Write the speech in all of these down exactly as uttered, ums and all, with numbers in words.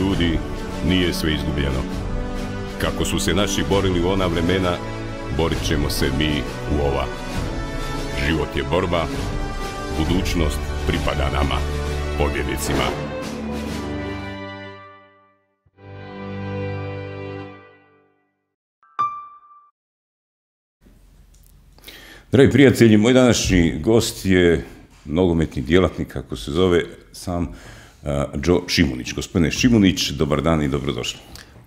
ljudi, nije sve izgubljeno. Kako su se naši borili u ona vremena, borit ćemo se mi u ova. Život je borba, budućnost pripada nama, pobjednicima. Dragi prijatelji, moj današnji gost je nogometni djelatnik, kako se zove, sam uh, Joe Šimunić. Gospodine Šimunić, dobar dan i dobrodošli.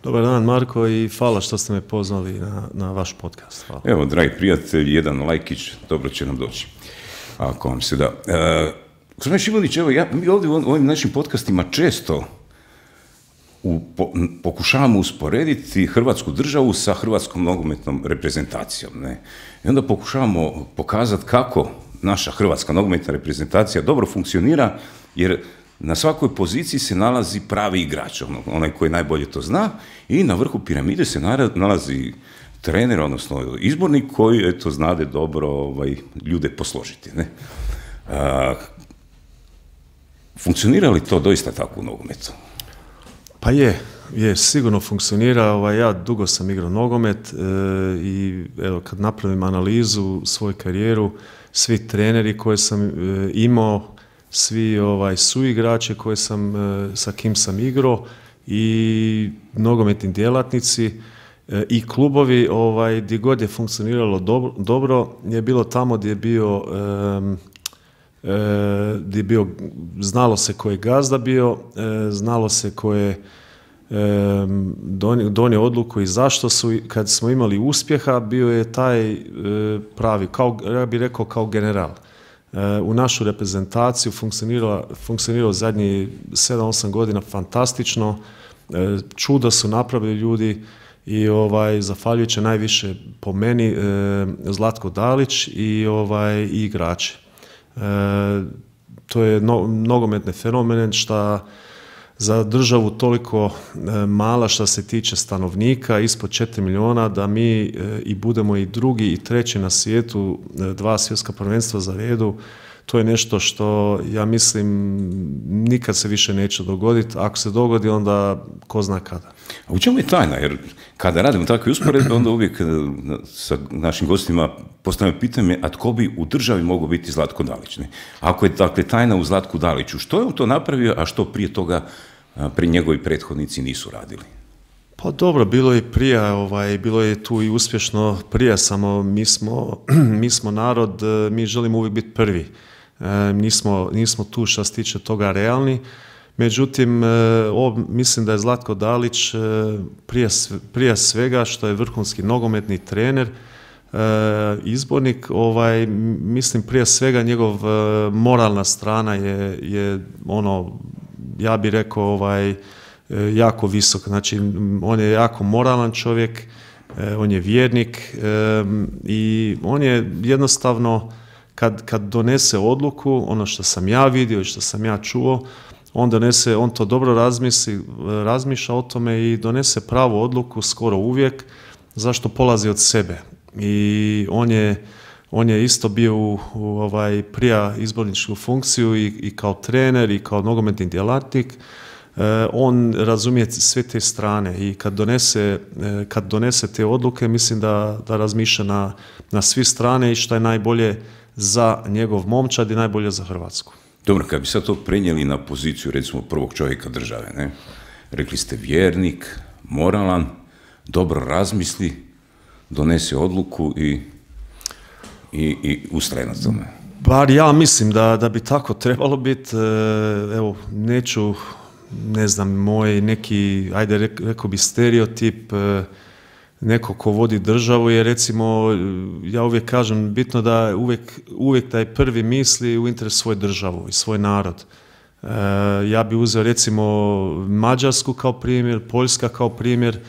Dobar dan, Marko, i hvala što ste me pozvali na, na vaš podcast. Hvala. Evo, dragi prijatelji, jedan lajkić, dobro će nam doći, ako vam se da. Uh, gospodine Šimunić, evo, ja, mi ovdje u ovim našim podcastima često u, po, pokušavamo usporediti Hrvatsku državu sa hrvatskom nogometnom reprezentacijom. Ne? I onda pokušavamo pokazati kako naša hrvatska nogometna reprezentacija dobro funkcionira, jer na svakoj poziciji se nalazi pravi igrač, ono, onaj koji najbolje to zna, i na vrhu piramide se nalazi trener, odnosno izbornik koji eto, znade dobro ovaj, ljude posložiti. Ne? A, funkcionira li to doista tako u nogometu? Pa je, je, sigurno funkcionira. Ovaj, ja dugo sam igrao nogomet e, i evo, kad napravim analizu svoju karijeru, svi treneri koje sam e, imao, svi ovaj, suigrače koje sam, e, sa kim sam igrao i nogometni djelatnici e, i klubovi, ovaj, gdje god je funkcioniralo dobro, dobro je bilo tamo gdje je bio, e, e, gdje je bio, znalo se ko je gazda bio, e, znalo se ko je donio, donio odluku i zašto su, kad smo imali uspjeha, bio je taj e, pravi, kao, ja bih rekao kao general. E, u našu reprezentaciju funkcioniralo, funkcioniralo zadnjih sedam osam godina fantastično, e, čudo su napravili ljudi i ovaj, zahvaljujući najviše po meni e, Zlatko Dalić i, ovaj, i igrači. E, to je no, nogometni fenomen šta za državu toliko e, mala što se tiče stanovnika, ispod četiri milijuna, da mi e, i budemo i drugi i treći na svijetu, e, dva svjetska prvenstva za redu, to je nešto što ja mislim nikad se više neće dogoditi. Ako se dogodi, onda ko zna kada. A u čemu je tajna? Jer kada radimo takve usporedbe, onda uvijek sa našim gostima postavljamo pitanje, a tko bi u državi mogao biti Zlatko Dalić? Ne? Ako je dakle tajna u Zlatku Daliću, što je on to napravio, a što prije toga pri njegovi prethodnici nisu radili? Pa dobro, bilo je prije, ovaj, bilo je tu i uspješno prije, samo mi smo, mi smo narod, mi želimo uvijek biti prvi. E, nismo, nismo tu što se tiče toga realni. Međutim, e, o, mislim da je Zlatko Dalić e, prije, prije svega što je vrhunski nogometni trener, e, izbornik, ovaj, mislim prije svega njegov e, moralna strana je, je ono, ja bih rekao, ovaj, jako visok. Znači, on je jako moralan čovjek, on je vjernik i on je jednostavno, kad, kad donese odluku, ono što sam ja vidio i što sam ja čuo, on donese, on to dobro razmisli, razmišlja o tome i donese pravu odluku skoro uvijek, zašto polazi od sebe. I on je, on je isto bio u, u ovaj, prija izborničku funkciju i, i kao trener i kao nogometni djelatnik. E, on razumije sve te strane i kad donese, e, kad donese te odluke, mislim da, da razmišlja na, na svi strane i što je najbolje za njegov momčad i najbolje za Hrvatsku. Dobro, kad bi sad to prenijeli na poziciju recimo prvog čovjeka države, ne? Rekli ste vjernik, moralan, dobro razmisli, donese odluku i i, i ustraje na tome. Bar ja mislim da, da bi tako trebalo biti. Evo, neću, ne znam, moj neki, ajde rekao bi stereotip, neko ko vodi državu je, recimo, ja uvijek kažem, bitno da uvijek, uvijek taj prvi misli u interes svoje državu i svoj narod. Ja bi uzeo recimo Mađarsku kao primjer, Poljska kao primjer,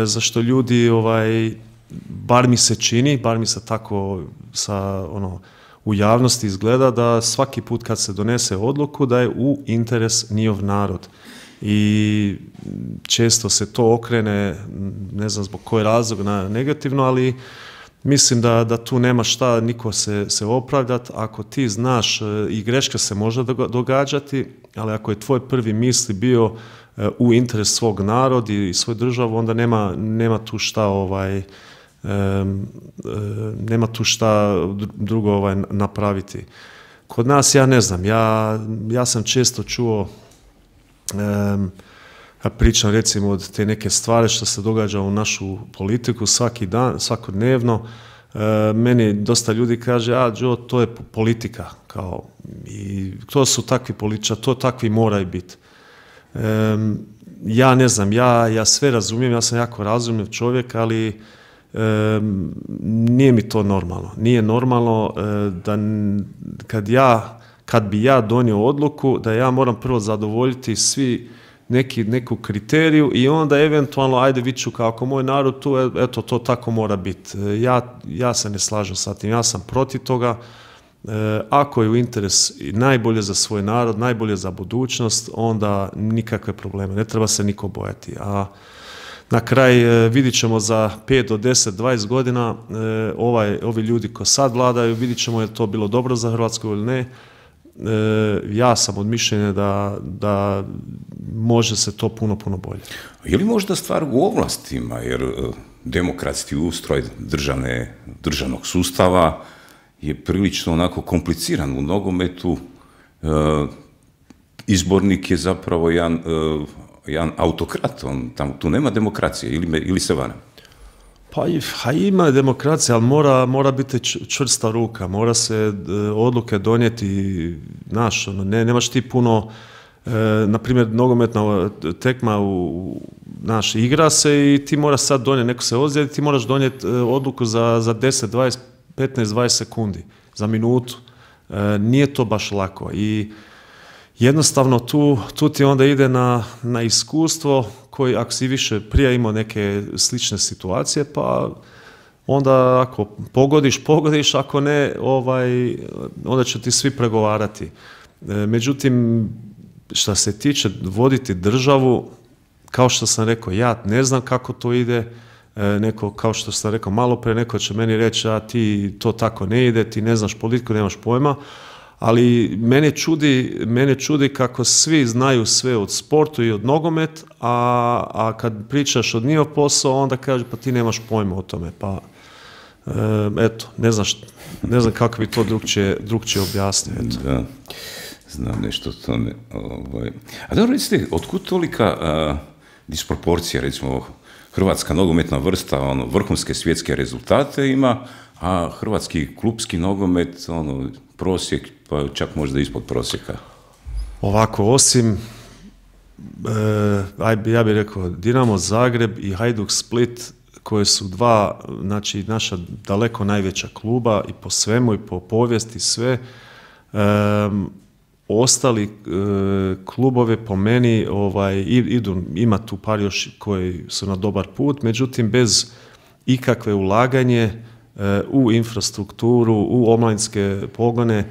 zašto ljudi, ovaj, bar mi se čini, bar mi se tako sa, ono, u javnosti izgleda da svaki put kad se donese odluku da je u interes njihov narod. I često se to okrene, ne znam zbog koji razlog, na negativno, ali mislim da, da tu nema šta niko se, se opravdati. Ako ti znaš, i greška se može događati, ali ako je tvoj prvi misli bio u interes svog naroda i svoju državu, onda nema, nema tu šta ovaj, um, nema tu šta drugo ovaj, napraviti. Kod nas, ja ne znam, ja, ja sam često čuo, um, ja pričam recimo od te neke stvari što se događa u našu politiku svaki dan, svakodnevno. E, meni dosta ljudi kaže, a Joe, to je politika, kao, i to su takvi političari, to takvi moraju biti. E, ja ne znam, ja, ja sve razumijem, ja sam jako razumljiv čovjek, ali e, nije mi to normalno. Nije normalno e, da kad ja, kad bi ja donio odluku, da ja moram prvo zadovoljiti svi Neki, neku kriteriju i onda eventualno, ajde viću kao ako moj narod tu, eto, to tako mora biti. Ja, ja se ne slažem sa tim, ja sam protiv toga. E, ako je u interes najbolje za svoj narod, najbolje za budućnost, onda nikakve probleme, ne treba se niko bojati. A na kraj e, vidit ćemo za pet do deset, dvadeset godina e, ovaj, ovi ljudi koji sad vladaju, vidit ćemo je to bilo dobro za Hrvatsku ili ne. E, ja sam od mišljenja da, da može se to puno, puno bolje. Je li možda stvar u ovlastima, jer demokratski ustroj državne, državnog sustava je prilično onako kompliciran u nogometu, e, izbornik je zapravo jedan, e, jedan autokrat, on, tam, tu nema demokracije, ili, me, ili se varam? Pa ima demokracija, ali mora, mora biti čvrsta ruka, mora se odluke donijeti, znaš, ne, nemaš ti puno, e, na primjer, nogometna tekma, u, znaš, igra se i ti moraš sad donijeti, neko se ozljedi, ti moraš donijeti odluku za, za deset, dvadeset, petnaest, dvadeset sekundi, za minutu. E, nije to baš lako i jednostavno tu, tu ti onda ide na, na iskustvo koji, ako si više prije imao neke slične situacije, pa onda ako pogodiš, pogodiš, ako ne, ovaj, onda će ti svi pregovarati. E, međutim, što se tiče voditi državu, kao što sam rekao, ja ne znam kako to ide, e, neko, kao što sam rekao malo pre, neko će meni reći, a ti to tako ne ide, ti ne znaš politiku, nemaš pojma, ali mene čudi, mene čudi kako svi znaju sve od sportu i od nogomet, a, a kad pričaš od njihov posao, onda kaže pa ti nemaš pojma o tome. Pa e, eto, ne znam, šta, ne znam kako bi to drugčije, drugčije objasnio. Eto. Da, znam nešto o tome. Ovaj. A dobro, recite, otkud tolika a, disproporcija, recimo, hrvatska nogometna vrsta, ono, vrhunske svjetske rezultate ima, a hrvatski klupski nogomet, ono, prosjek, pa čak možda ispod prosjeka. Ovako, osim, e, ja bih rekao, Dinamo Zagreb i Hajduk Split, koje su dva, znači, naša daleko najveća kluba i po svemu i po povijesti sve, e, ostali e, klubove po meni ovaj, idu, ima tu par još koji su na dobar put, međutim, bez ikakve ulaganje u infrastrukturu, u omladinske pogone,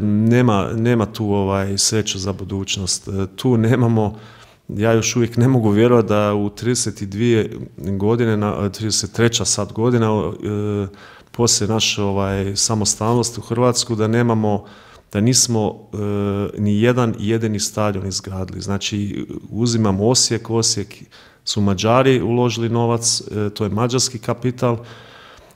nema, nema tu ovaj sreće za budućnost. Tu nemamo, ja još uvijek ne mogu vjerovati da u trideset dvije godine, na trideset treća sad godina, poslije naše ovaj, samostalnosti u Hrvatsku, da nemamo, da nismo ni jedan jedini stadion izgradili. Znači, uzimamo Osijek, Osijek su Mađari uložili novac, to je mađarski kapital.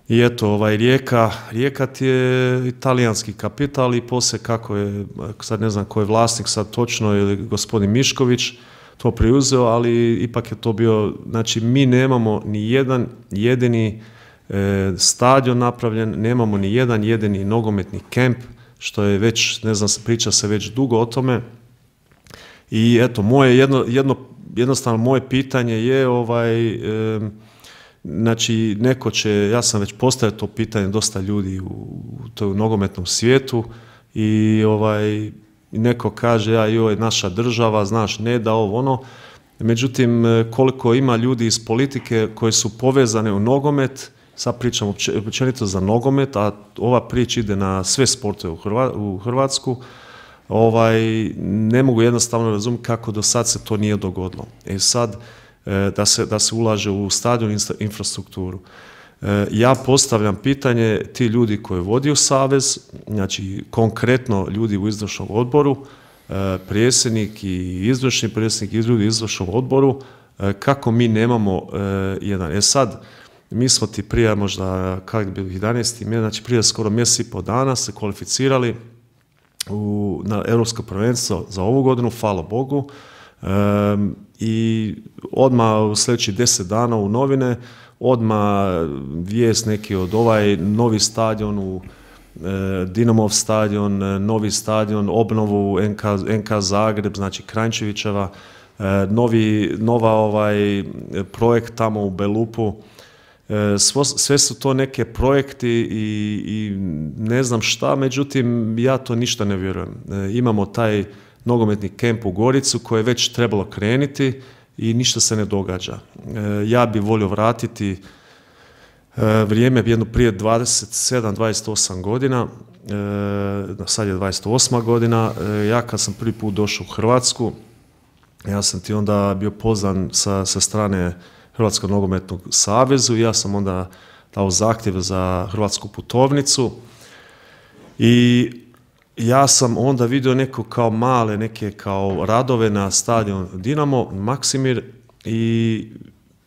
I eto, ovaj, Rijeka, Rijeka ti je italijanski kapital i poslije kako je, sad ne znam ko je vlasnik sad točno, ili gospodin Mišković to preuzeo, ali ipak je to bio, znači mi nemamo ni jedan jedini e, stadion napravljen, nemamo ni jedan jedini nogometni kemp, što je već, ne znam, priča se već dugo o tome. I eto, moje jedno, jedno, jednostavno moje pitanje je ovaj... E, Znači, neko će, ja sam već postavio to pitanje dosta ljudi u, u toj nogometnom svijetu i ovaj, neko kaže, ja joj, naša država, znaš, ne da ovo ono. Međutim, koliko ima ljudi iz politike koji su povezane u nogomet, sad pričam općenito za nogomet, a ova priča ide na sve sportove u, Hrva, u Hrvatsku, ovaj, ne mogu jednostavno razumjeti kako do sad se to nije dogodilo. E sad, Da se, da se ulaže u stadion infrastrukturu. Ja postavljam pitanje, ti ljudi koji vodi u savez, znači konkretno ljudi u izvršnom odboru, predsjednik i izvršni predsjednik i ljudi u izvršnom odboru, kako mi nemamo jedan. E sad, mi smo ti prije možda, kako bi bilo jedanaesti mjesec, znači prije skoro mjesec i pol dana se kvalificirali u, na Europsko prvenstvo za ovu godinu, hvala Bogu, um, i odmah u sljedećih deset dana u novine, odmah vijest neki od ovaj novi stadion u e, Dinamov stadion, novi stadion, obnovu N K, N K Zagreb, znači Kranjčevićeva, e, novi, nova ovaj projekt tamo u Belupu. Svo, sve su to neke projekti i, i ne znam šta, međutim ja to ništa ne vjerujem. E, imamo taj nogometni kemp u Goricu koje je već trebalo krenuti i ništa se ne događa. E, ja bi volio vratiti e, vrijeme jedno prije dvadeset sedam dvadeset osam godina, e, sad je dvadeset osma godina, e, ja kad sam prvi put došao u Hrvatsku, ja sam ti onda bio pozvan sa, sa strane Hrvatskog nogometnog savezu, ja sam onda dao zahtjev za hrvatsku putovnicu i ja sam onda vidio neko kao male, neke kao radove na stadion Dinamo, Maksimir, i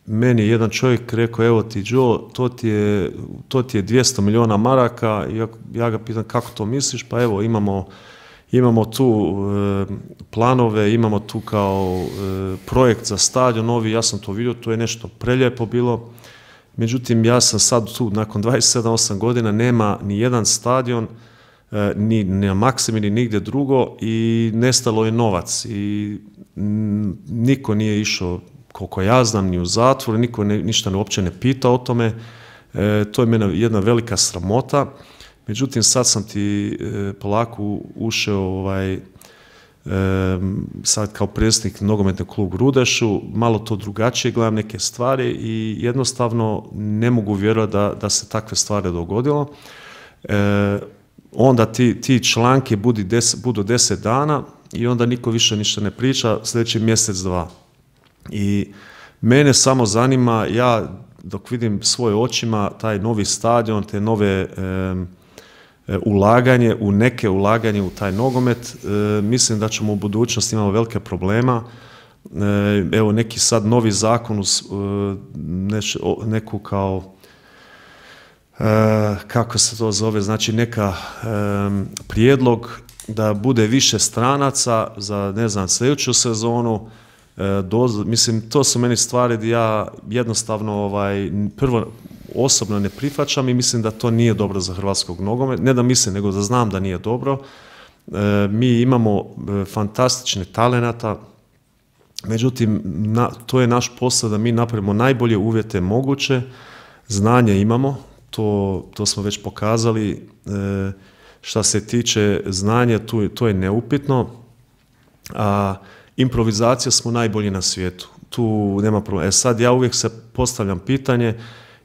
meni je jedan čovjek rekao, evo ti Joe, to ti je, to ti je dvjesto milijuna maraka, i ja, ja ga pitam kako to misliš, pa evo imamo Imamo tu e, planove, imamo tu kao e, projekt za stadion novi, ja sam to vidio, to je nešto prelijepo bilo. Međutim, ja sam sad tu, nakon dvadeset sedam osam godina, nema ni jedan stadion, e, ni na Maksimir, ni nigdje drugo, i nestalo je novac. I m, niko nije išao, koliko ja znam, ni u zatvor, niko ne, ništa ne, uopće ne pita o tome. E, to je meni jedna velika sramota. Međutim, sad sam ti e, polako ušao ovaj, e, sad kao predsjednik nogometnog kluba Rudešu, malo to drugačije gledam neke stvari i jednostavno ne mogu vjerovati da, da se takve stvari dogodilo. E, onda ti, ti članke budu deset, budu deset dana i onda niko više ništa ne priča sljedeći mjesec, dva. I mene samo zanima, ja dok vidim svoje očima taj novi stadion, te nove e, ulaganje u neke ulaganje u taj nogomet, e, mislim da ćemo u budućnosti imati velike problema. E, evo neki sad novi zakon uz e, neš, o, neku kao e, kako se to zove, znači neka e, prijedlog da bude više stranaca za, ne znam, sljedeću sezonu. E, doz, mislim, to su meni stvari gdje ja jednostavno ovaj, prvo osobno ne prihvaćam i mislim da to nije dobro za hrvatskog nogometa. Ne da mislim, nego da znam da nije dobro. E, mi imamo e, fantastične talenata, međutim, na, to je naš posao da mi napravimo najbolje uvjete moguće. Znanje imamo, to, to smo već pokazali. E, šta se tiče znanja, tu, to je neupitno. A improvizacija smo najbolji na svijetu. Tu nema problema. E sad ja uvijek se postavljam pitanje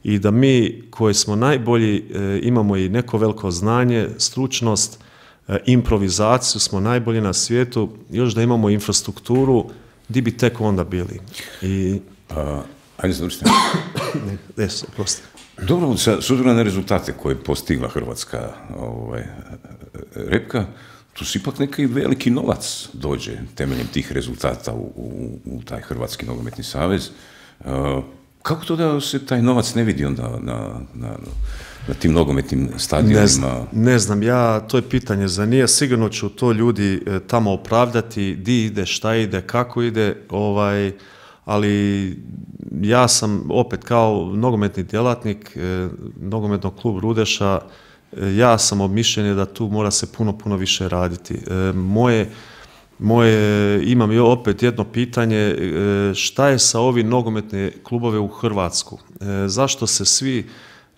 i da mi koji smo najbolji e, imamo i neko veliko znanje, stručnost, e, improvizaciju, smo najbolji na svijetu, još da imamo infrastrukturu, di bi tek onda bili. I... A, ajde završite. ne, ne, prosti. Dobro, s obzirom na rezultate koje je postigla hrvatska ovaj, repka, tu si ipak neki veliki novac dođe temeljem tih rezultata u, u, u taj Hrvatski nogometni savez. Uh, kako to da se taj novac ne vidi onda na, na, na tim nogometnim stadionima? Ne znam, ne znam, ja, to je pitanje za nije, sigurno ću to ljudi e, tamo opravdati, di ide, šta ide, kako ide, ovaj, ali ja sam opet kao nogometni djelatnik e, nogometnog kluba Rudeša, ja sam od mišljenja da tu mora se puno, puno više raditi. E, moje, moje, imam i opet jedno pitanje, e, šta je sa ovi nogometne klubove u Hrvatsku? E, zašto se svi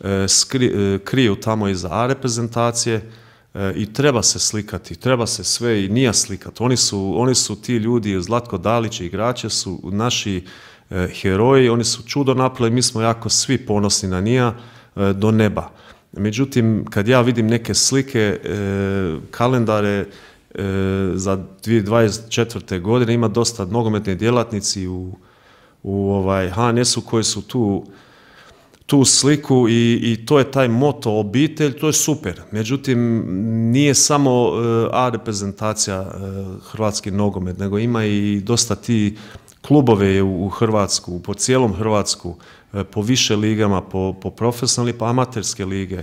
e, skri, e, kriju tamo iza A reprezentacije e, i treba se slikati, treba se sve i nije slikati. Oni su, oni su ti ljudi, Zlatko Dalić i igrače su naši e, heroji, oni su čudo napravili, mi smo jako svi ponosni na njih e, do neba. Međutim, kad ja vidim neke slike, e, kalendare e, za dvije tisuće dvadeset četvrte. godine, ima dosta nogometni djelatnici u, u ovaj H N S-u koji su tu, tu sliku i, i to je taj moto obitelj, to je super. Međutim, nije samo uh, A reprezentacija uh, hrvatski nogomet, nego ima i dosta ti klubove u, u Hrvatsku, po cijelom Hrvatsku, uh, po više ligama, po, po profesionalni, pa amaterske lige.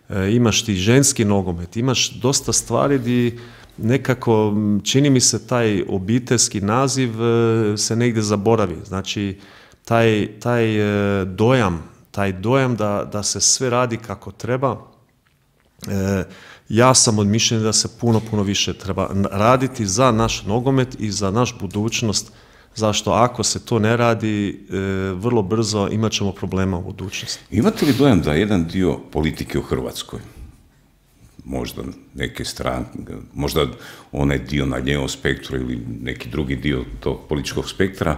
Uh, imaš ti ženski nogomet, imaš dosta stvari di nekako, čini mi se, taj obiteljski naziv uh, se negdje zaboravi. Znači, taj, taj uh, dojam taj dojam da, da se sve radi kako treba, e, ja sam od mišljenja da se puno, puno više treba raditi za naš nogomet i za naš budućnost, zašto ako se to ne radi, e, vrlo brzo imat ćemo problema u budućnosti. Imate li dojam da jedan dio politike u Hrvatskoj, možda neke stranke, možda onaj dio na ljevom spektru ili neki drugi dio tog političkog spektra,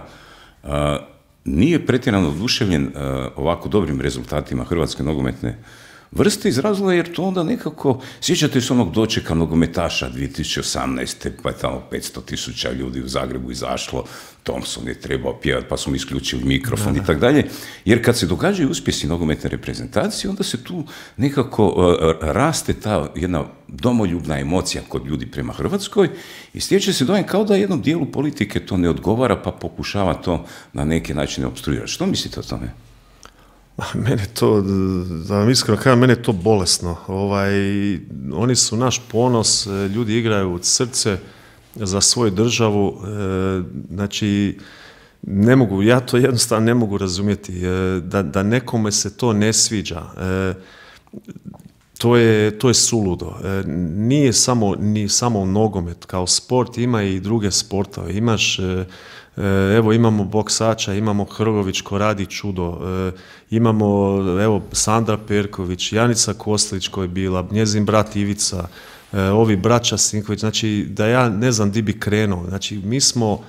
a, nije pretjerano oduševljen uh, ovako dobrim rezultatima hrvatske nogometne vrste iz razloga jer to onda nekako, sjećate se onog dočeka nogometaša dvije tisuće osamnaeste pa je tamo petsto tisuća ljudi u Zagrebu izašlo, Thompson je trebao pjevati pa smo isključili mikrofon i tako dalje, jer kad se događaju uspjesi nogometne reprezentacije, onda se tu nekako uh, raste ta jedna domoljubna emocija kod ljudi prema Hrvatskoj i stječe se dojam kao da jednom dijelu politike to ne odgovara pa pokušava to na neki način opstruirati. Što mislite o tome? Mene to, da vam iskreno kažem, mene je to bolesno. Ovaj, oni su naš ponos, ljudi igraju od srce za svoju državu, e, znači ne mogu, ja to jednostavno ne mogu razumjeti, e, da, da nekome se to ne sviđa. E, to je, to je suludo. E, nije samo, ni samo nogomet kao sport, ima i druge sportove. Imaš e, Evo imamo boksača, imamo Hrgović ko radi čudo, imamo evo Sandra Perković, Janica Kostelić koja je bila, njezin brat Ivica, ovi braća Sinković, znači da ja ne znam di bi krenuo, znači mi smo,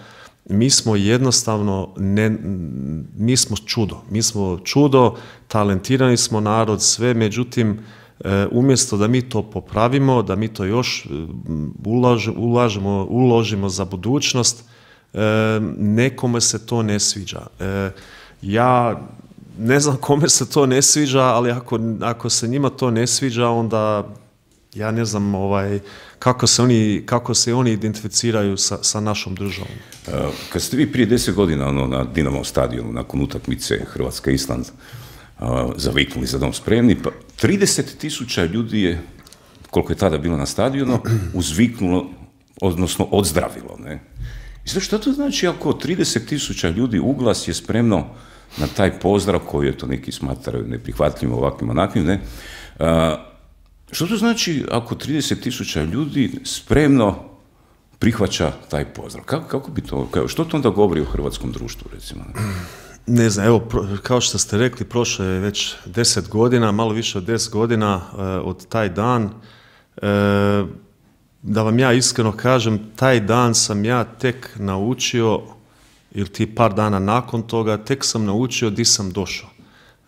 mi smo jednostavno, ne, mi smo čudo, mi smo čudo, talentirani smo narod, sve, međutim umjesto da mi to popravimo, da mi to još ulaž, ulažemo, uložimo za budućnost, E, nekome se to ne sviđa. E, ja ne znam kome se to ne sviđa, ali ako, ako se njima to ne sviđa, onda ja ne znam ovaj, kako, se oni, kako se oni identificiraju sa, sa našom državom. E, kad ste vi prije deset godina ono, na Dinamo stadionu, nakon utakmice Hrvatska-Island, zaviknuli za dom spremni, pa trideset tisuća ljudi je, koliko je tada bilo na stadionu, uzviknulo, odnosno odzdravilo, ne? I znači, što to znači ako trideset tisuća ljudi uglas je spremno na taj pozdrav koji je to neki smatraju neprihvatljivim ovakvim onakvim, ne? A, što to znači ako trideset tisuća ljudi spremno prihvaća taj pozdrav? Kako, kako bi to, kao, što to onda govori o hrvatskom društvu, recimo? Ne, ne znam, evo, pro, kao što ste rekli, prošlo je već deset godina, malo više od deset godina uh, od taj dan. Uh, Da vam ja iskreno kažem, taj dan sam ja tek naučio, ili ti par dana nakon toga, tek sam naučio di sam došao.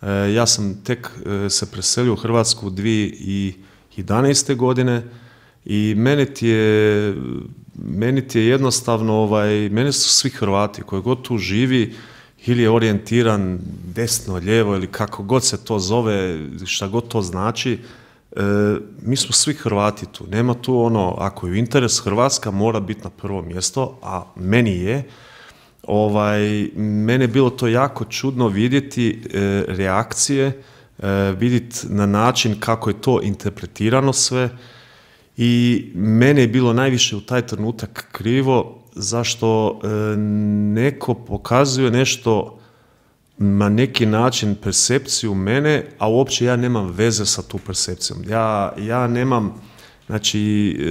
E, ja sam tek e, se preselio u Hrvatsku dvije tisuće jedanaeste. godine i meni ti je, meni ti je jednostavno, ovaj, meni su svi Hrvati koji god tu živi, ili je orijentiran desno, lijevo ili kako god se to zove, šta god to znači, E, mi smo svi Hrvati tu, nema tu ono, ako je interes Hrvatska mora biti na prvo mjesto, a meni je, ovaj, mene je bilo to jako čudno vidjeti e, reakcije, e, vidjeti na način kako je to interpretirano sve i mene je bilo najviše u taj trenutak krivo, zašto e, neko pokazuje nešto na neki način percepciju mene, a uopće ja nemam veze sa tu percepcijom. Ja, ja nemam, znači, e,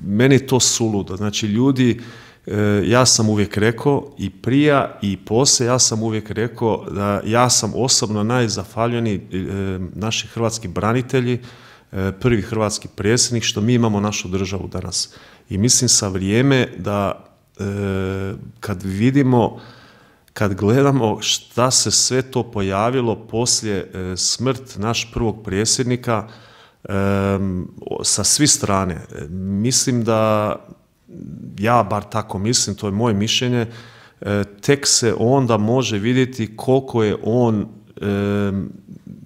meni je to suludo. Znači, ljudi, e, ja sam uvijek rekao, i prija i poslije, ja sam uvijek rekao da ja sam osobno najzahvaljeniji e, naši hrvatski branitelji, e, prvi hrvatski predsjednik, što mi imamo našu državu danas. I mislim sa vrijeme da e, kad vidimo kad gledamo šta se sve to pojavilo poslije e, smrt naš prvog predsjednika e, sa svih strane, e, mislim da, ja bar tako mislim, to je moje mišljenje, e, tek se onda može vidjeti koliko je on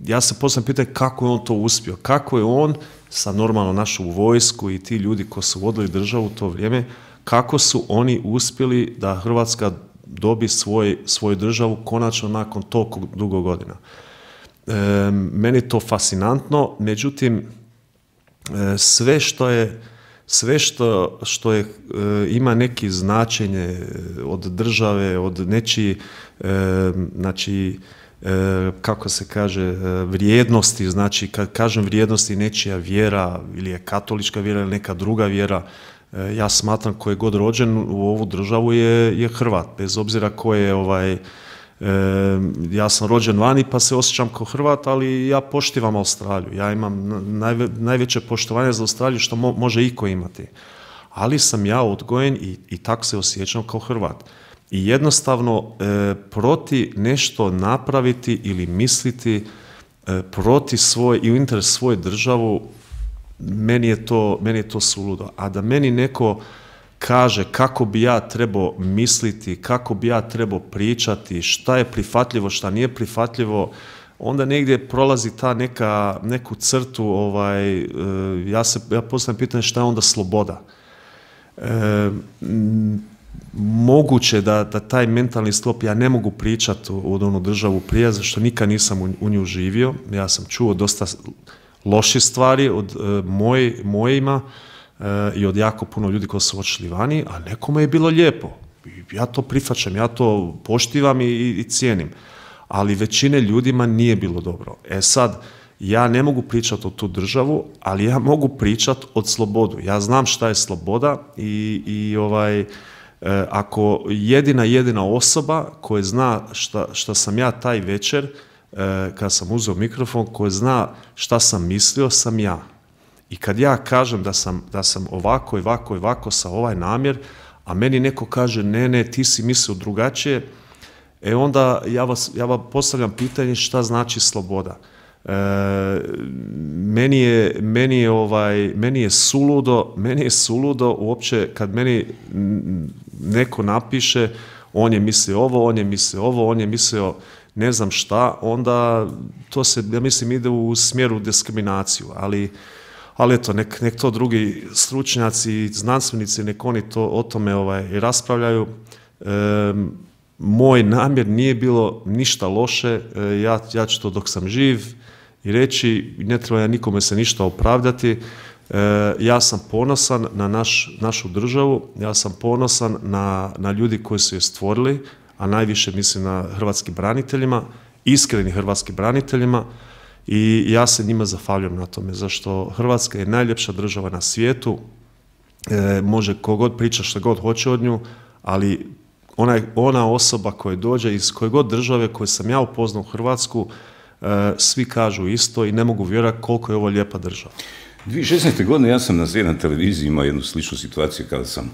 ja se postavljam pitanje kako je on to uspio, kako je on sa normalno našu vojsku i ti ljudi koji su vodili državu u to vrijeme, kako su oni uspjeli da Hrvatska dobi svoj, svoju državu konačno nakon toliko dugo godina. E, meni je to fascinantno, međutim, e, sve što je sve što, što je, e, ima neki značenje od države, od nečiji, e, znači, e, kako se kaže, e, vrijednosti, znači, kad kažem vrijednosti, nečija vjera, ili je katolička vjera, ili neka druga vjera, e, ja smatram ko je god rođen u ovu državu je, je Hrvat, bez obzira ko je, ovaj, E, ja sam rođen vani pa se osjećam kao Hrvat, ali ja poštivam Australiju. Ja imam najve, najveće poštovanje za Australiju što mo, može iko imati. Ali sam ja odgojen i, i tako se osjećam kao Hrvat. I jednostavno e, proti nešto napraviti ili misliti e, proti svoj i u interes svoje državu, meni je to, meni je to suludo. A da meni neko kaže kako bi ja trebao misliti, kako bi ja trebao pričati, šta je prihvatljivo, šta nije prihvatljivo, onda negdje prolazi ta neka, neku crtu, ovaj, ja se ja postavljam pitanje šta je onda sloboda. E, moguće da, da taj mentalni sklop, ja ne mogu pričati od onu državu prije, zašto nikad nisam u, u nju živio, ja sam čuo dosta loših stvari od e, moj, mojima, i od jako puno ljudi koji su otišli vani, a nekome je bilo lijepo. Ja to prihvaćam, ja to poštivam i, i cijenim. Ali većine ljudima nije bilo dobro. E sad, ja ne mogu pričati o tu državu, ali ja mogu pričati od slobodu. Ja znam šta je sloboda i, i ovaj, e, ako jedina jedina osoba koja zna šta, šta sam ja taj večer, e, kad sam uzeo mikrofon, koja zna šta sam mislio, sam ja. I kad ja kažem da sam, da sam ovako i ovako i ovako sa ovaj namjer, a meni neko kaže ne, ne, ti si mislio drugačije, e onda ja vas, ja vam postavljam pitanje šta znači sloboda. E, meni je, meni je, ovaj, meni je suludo, meni je suludo uopće kad meni neko napiše on je mislio ovo, on je mislio ovo, on je mislio ne znam šta, onda to se, ja mislim, ide u smjeru diskriminaciju, ali Ali eto, nek, nek to drugi stručnjaci, znanstvenici, nek oni to, o tome ovaj, raspravljaju. E, moj namjer nije bilo ništa loše, e, ja, ja ću to dok sam živ i reći, ne treba ja nikome se ništa opravdati. E, ja sam ponosan na naš, našu državu, ja sam ponosan na, na ljudi koji su je stvorili, a najviše mislim na hrvatskim braniteljima, iskreni hrvatskim braniteljima, i ja se njima zahvaljujem na tome, zašto Hrvatska je najljepša država na svijetu, e, može kogod priča što god hoće od nju, ali ona, ona osoba koja dođe iz koje god države koje sam ja upoznao u Hrvatsku, e, svi kažu isto i ne mogu vjerovati koliko je ovo lijepa država. dvije tisuće šesnaeste. godine ja sam na Z jedan televiziji imao jednu sličnu situaciju kada sam,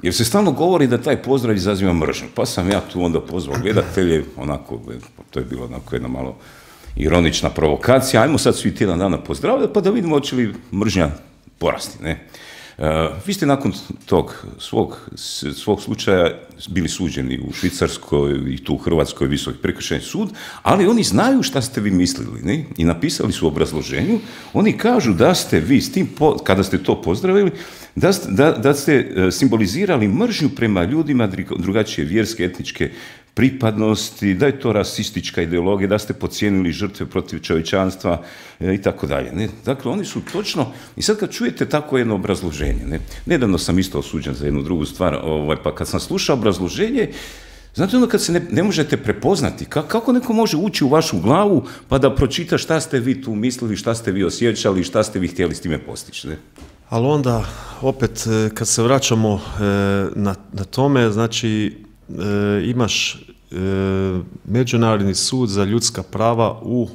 jer se stalno govori da taj pozdrav izaziva mržnju, pa sam ja tu onda pozvao gledatelje, onako, to je bilo onako jedna malo ironična provokacija, ajmo sad svi tjedan dana pozdravljati pa da vidimo hoće li mržnja porasti, ne? Uh, vi ste nakon tog svog, svog slučaja bili suđeni u Švicarskoj i tu u Hrvatskoj Visoki prekršajni sud, ali oni znaju šta ste vi mislili, ne? I napisali su u obrazloženju, oni kažu da ste vi, s tim po, kada ste to pozdravili, da ste, da, da ste simbolizirali mržnju prema ljudima drugačije vjerske, etničke pripadnosti, da je to rasistička ideologija, da ste podcijenili žrtve protiv čovječanstva e, i tako dalje. Ne? Dakle, oni su točno, i sad kad čujete tako jedno obrazloženje, ne? Nedavno sam isto osuđen za jednu drugu stvar, ovaj, pa kad sam slušao obrazloženje, znate ono kad se ne, ne možete prepoznati, ka, kako neko može ući u vašu glavu pa da pročita šta ste vi tu mislili, šta ste vi osjećali, šta ste vi htjeli s time postići, ne? Ali onda, opet, kad se vraćamo na, na tome, znači, E, imaš e, Međunarodni sud za ljudska prava u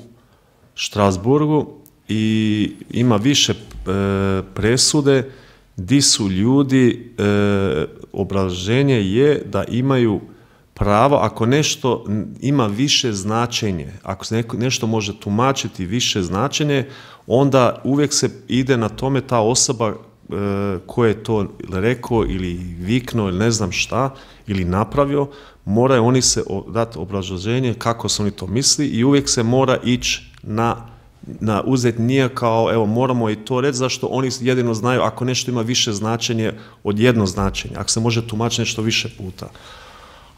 Štrasburgu i ima više e, presude di su ljudi, e, obrazloženje je da imaju pravo, ako nešto ima više značenje, ako se neko, nešto može tumačiti više značenje, onda uvijek se ide na tome ta osoba ko je to rekao ili viknuo ili ne znam šta ili napravio, moraju oni se dati obrazloženje kako su oni to misli i uvijek se mora ići na, na uzeti nije kao, evo, moramo i to reći, zašto oni jedino znaju ako nešto ima više značenje od jedno značenje, ako se može tumačiti nešto više puta.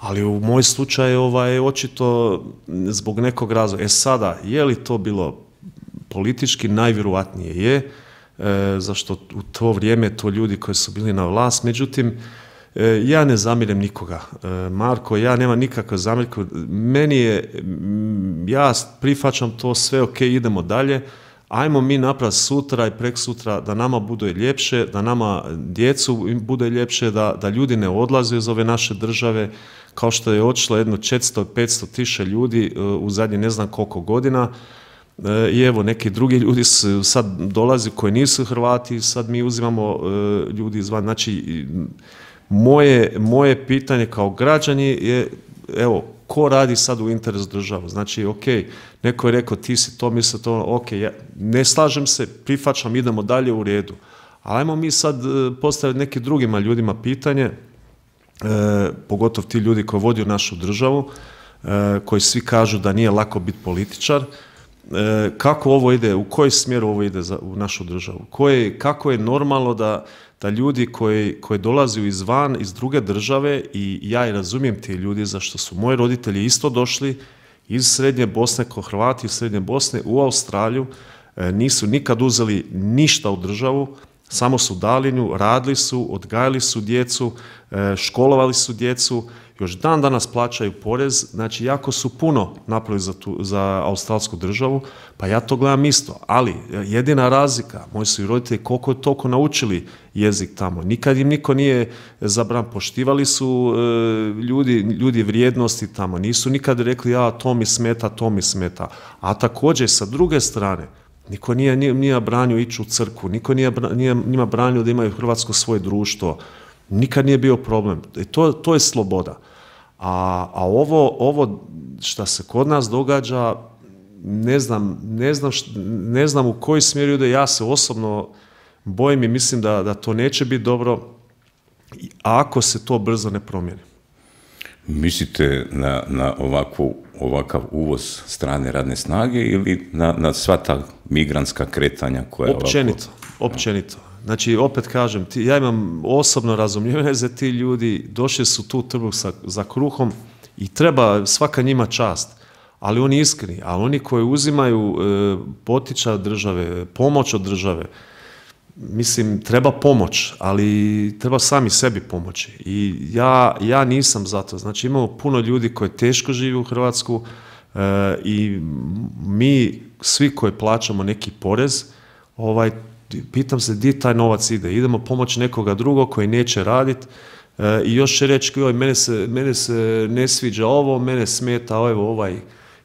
Ali u moj slučaju ovaj, očito zbog nekog razloga. E sada, je li to bilo politički? Najvjerojatnije je, e, zašto u to vrijeme to ljudi koji su bili na vlast, međutim, e, ja ne zamirem nikoga. E, Marko, ja nemam nikakve zamjerke. Meni je, ja prihvaćam to sve, ok, idemo dalje, ajmo mi napraviti sutra i prek sutra da nama bude ljepše, da nama djecu bude ljepše, da, da ljudi ne odlaze iz ove naše države, kao što je otišlo jedno četiristo do petsto tisuća ljudi u zadnje ne znam koliko godina. I evo, neki drugi ljudi su sad dolazi koji nisu Hrvati, sad mi uzimamo ljudi izvan. Znači, moje, moje pitanje kao građani je, evo, ko radi sad u interesu države? Znači, ok, neko je rekao ti si to, misli to, ok, ja ne slažem se, prihvaćam, idemo dalje, u redu. Ali ajmo mi sad postaviti nekim drugima ljudima pitanje, E, pogotovo ti ljudi koji vodi našu državu, e, koji svi kažu da nije lako biti političar, e, kako ovo ide, u koji smjer ovo ide za, u našu državu, koje, kako je normalno da, da ljudi koji, koji dolaze izvan, iz druge države, i ja i razumijem ti ljudi, zašto su moji roditelji isto došli iz Srednje Bosne, ko Hrvati iz Srednje Bosne u Australiju, e, nisu nikad uzeli ništa u državu, samo su dali nju, radili su, odgajali su djecu, školovali su djecu, još dan danas plaćaju porez, znači jako su puno napravili za, tu, za australsku državu, pa ja to gledam isto, ali jedina razlika, moji su i roditelji koliko je toliko naučili jezik tamo, nikad im niko nije zabran, poštivali su e, ljudi, ljudi vrijednosti tamo, nisu nikad rekli ja to mi smeta, to mi smeta, a također sa druge strane, niko nije, nije, nije branio ići u crkvu, niko nije, nije njima branio da imaju hrvatsko svoje društvo, nikad nije bio problem. I to, to je sloboda. A, a ovo, ovo što se kod nas događa, ne znam, ne znam, št, ne znam u koji smjer ide, ja se osobno bojim i mislim da, da to neće biti dobro, ako se to brzo ne promijeni. Mislite na, na ovakvu, ovakav uvoz strane radne snage ili na, na sva ta migrantska kretanja koja općenito, ovako... općenito. Znači, opet kažem, ti, ja imam osobno razumijevanje za ti ljudi, došli su tu trbuh sa, za kruhom i treba svaka njima čast, ali oni iskreni, a oni koji uzimaju e, potiča od države, pomoć od države, mislim, treba pomoć, ali treba sami sebi pomoći. I ja, ja nisam za to. Znači, imamo puno ljudi koji teško žive u Hrvatsku e, i mi, svi koji plaćamo neki porez, ovaj, pitam se gdje taj novac ide. Idemo pomoći nekoga drugog koji neće raditi e, i još će reći, joj, mene se, mene se ne sviđa ovo, mene smeta evo, ovaj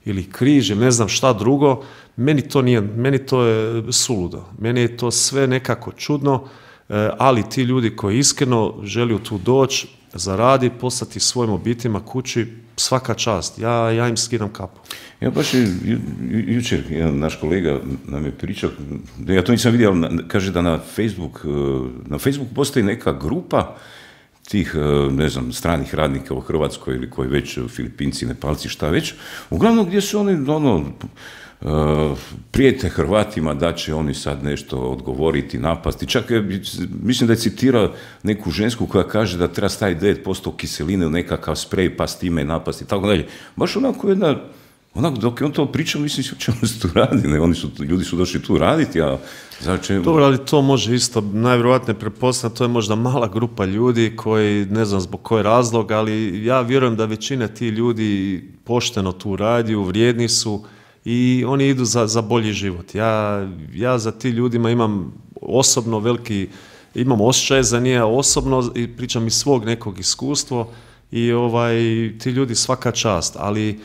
ili križ, ne znam šta drugo. Meni to nije, meni to je suludo. Meni je to sve nekako čudno, e, ali ti ljudi koji iskreno žele tu doći, zaradi, poslati svojim obiteljima kući, svaka čast. Ja, ja im skidam kapu. Ja baš je, ju, jučer jedan naš kolega nam je pričao, ja to nisam vidio, ali kaže da na Facebook, na Facebooku postoji neka grupa tih, ne znam, stranih radnika u Hrvatskoj ili koji već, Filipinci, Nepalci, šta već, uglavnom gdje su oni, ono, Uh, prijete Hrvatima da će oni sad nešto odgovoriti, napasti. Čak je, mislim da je citirao neku žensku koja kaže da treba staviti devet posto kiseline u nekakav sprej pa s time napasti i tako dalje. Baš onako jedna, onako dok je on to pričao, mislim o čemu se tu radi, ne? Oni su, ljudi su došli tu raditi, a znači... Dobro, ali to može isto, najvjerojatnije pretpostavljam, to je možda mala grupa ljudi koji, ne znam zbog koji razlog, ali ja vjerujem da većina ti ljudi pošteno tu radi, vrijedni su, i oni idu za, za bolji život. Ja, ja za ti ljudima imam osobno veliki, imam osjećaj za nije osobno i pričam iz svog nekog iskustva i ovaj, ti ljudi svaka čast, ali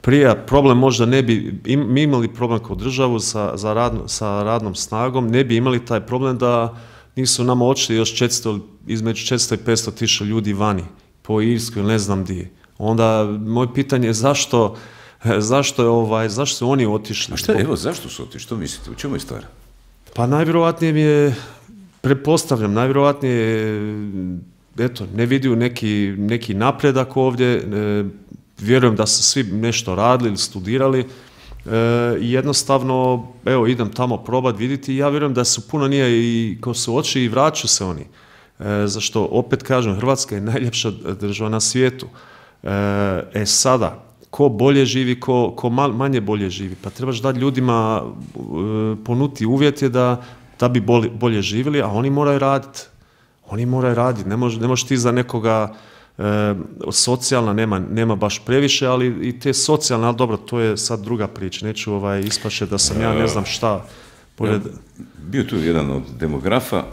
prije problem možda ne bi, im, mi imali problem kao državu sa, za radno, sa radnom snagom, ne bi imali taj problem da nisu nama očili još četiristo, između četiristo i petsto tisuća ljudi vani, po Irskoj ili ne znam di. Onda moje pitanje je zašto Zašto je ovaj, zašto su oni otišli? A šta, evo, zašto su otišli? Što mislite? U čemu je stvar? Pa najvjerojatnije mi je, pretpostavljam, najvjerojatnije eto, ne vidio neki, neki napredak ovdje, e, vjerujem da su svi nešto radili ili studirali e, i jednostavno, evo, idem tamo probat vidjeti i ja vjerujem da su puno nije i ko su oči i vraću se oni. E, zašto, opet kažem, Hrvatska je najljepša država na svijetu. E, e sada, ko bolje živi, ko, ko manje bolje živi, pa trebaš dati ljudima e, ponuti uvjete da, da bi bolje, bolje živjeli, a oni moraju raditi. Oni moraju raditi, ne možeš ne možeš ti za nekoga e, socijalna, nema, nema baš previše, ali i te socijalne, ali dobro, to je sad druga priča, neću ovaj, ispaše da sam ja ne znam šta. Pored... Ja, bio tu jedan od demografa,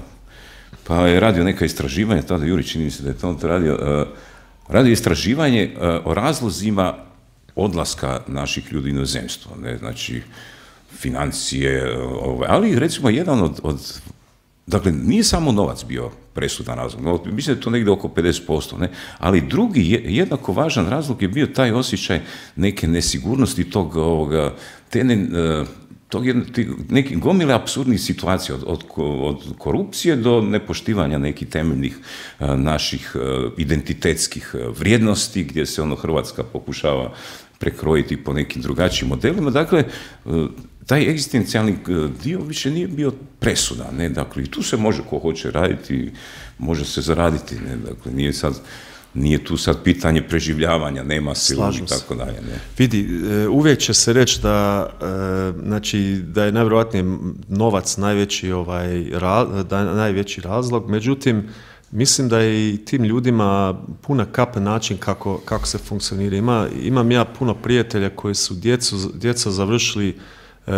pa je radio neka istraživanja, tada Juri čini mi se da je to radio, uh, radio istraživanje uh, o razlozima odlaska naših ljudi u inozemstvo, ne, znači financije, uh, ovaj, ali recimo jedan od, od, dakle nije samo novac bio presudan razlog, mislim da je to negdje oko pedeset posto, ne, ali drugi jednako važan razlog je bio taj osjećaj neke nesigurnosti tog ovoga, te ne, uh, tog je neki gomile apsurdnih situacija, od, od, od korupcije do nepoštivanja nekih temeljnih a, naših a, identitetskih vrijednosti, gdje se ono Hrvatska pokušava prekrojiti po nekim drugačijim modelima. Dakle, a, taj egzistencijalni dio više nije bio presudan, ne? Dakle, i tu se može ko hoće raditi, može se zaraditi, ne? Dakle, nije sad... Nije tu sad pitanje preživljavanja, nema silu i tako dalje. Ne? Vidi, uvijek će se reći da, znači, da je najvjerojatnije novac najveći, ovaj, da je najveći razlog, međutim, mislim da je i tim ljudima puna kapa način kako, kako se funkcionira. Ima, imam ja puno prijatelja koji su djecu, djeca završili e,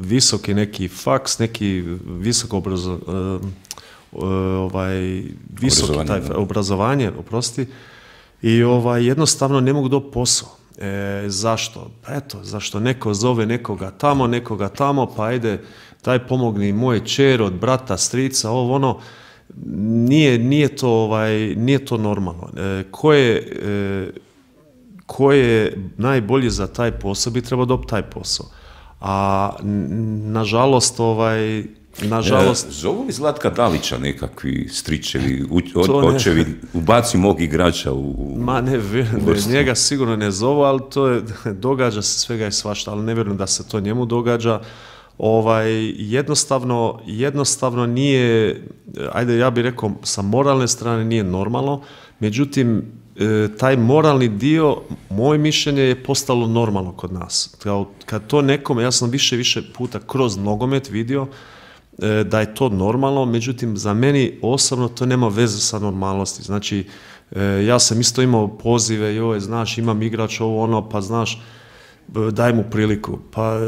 visoki neki faks, neki visoko obrazovanje, ovaj visoki taj obrazovanje, obrazovanje, oprosti, i ovaj jednostavno ne mogu dobiti posao. E, zašto? Pa eto, zašto neko zove nekoga tamo, nekoga tamo, pa ajde, daj pomogni moje čer od brata, strica, ovo ono, nije, nije to ovaj, nije to normalno. E, ko je e, ko je najbolji za taj posao bi trebao dobiti taj posao. A nažalost, ovaj Nažalost... E, zovu li Zlatka Dalića nekakvi stričevi, od, očevi, ubaci mog igrača u, u Ma ne, ne, njega sigurno ne zovu, ali to je, događa se svega i svašta, ali ne vjerujem da se to njemu događa. Ovaj, jednostavno, jednostavno nije, ajde ja bih rekao, sa moralne strane nije normalno, međutim, taj moralni dio, moje mišljenje, je postalo normalno kod nas. Kad to nekome, ja sam više više puta kroz nogomet vidio, da je to normalno, međutim za meni osobno to nema veze sa normalnosti. Znači, ja sam isto imao pozive, joj, znaš, imam igrač ovo ono, pa znaš, daj mu priliku. Pa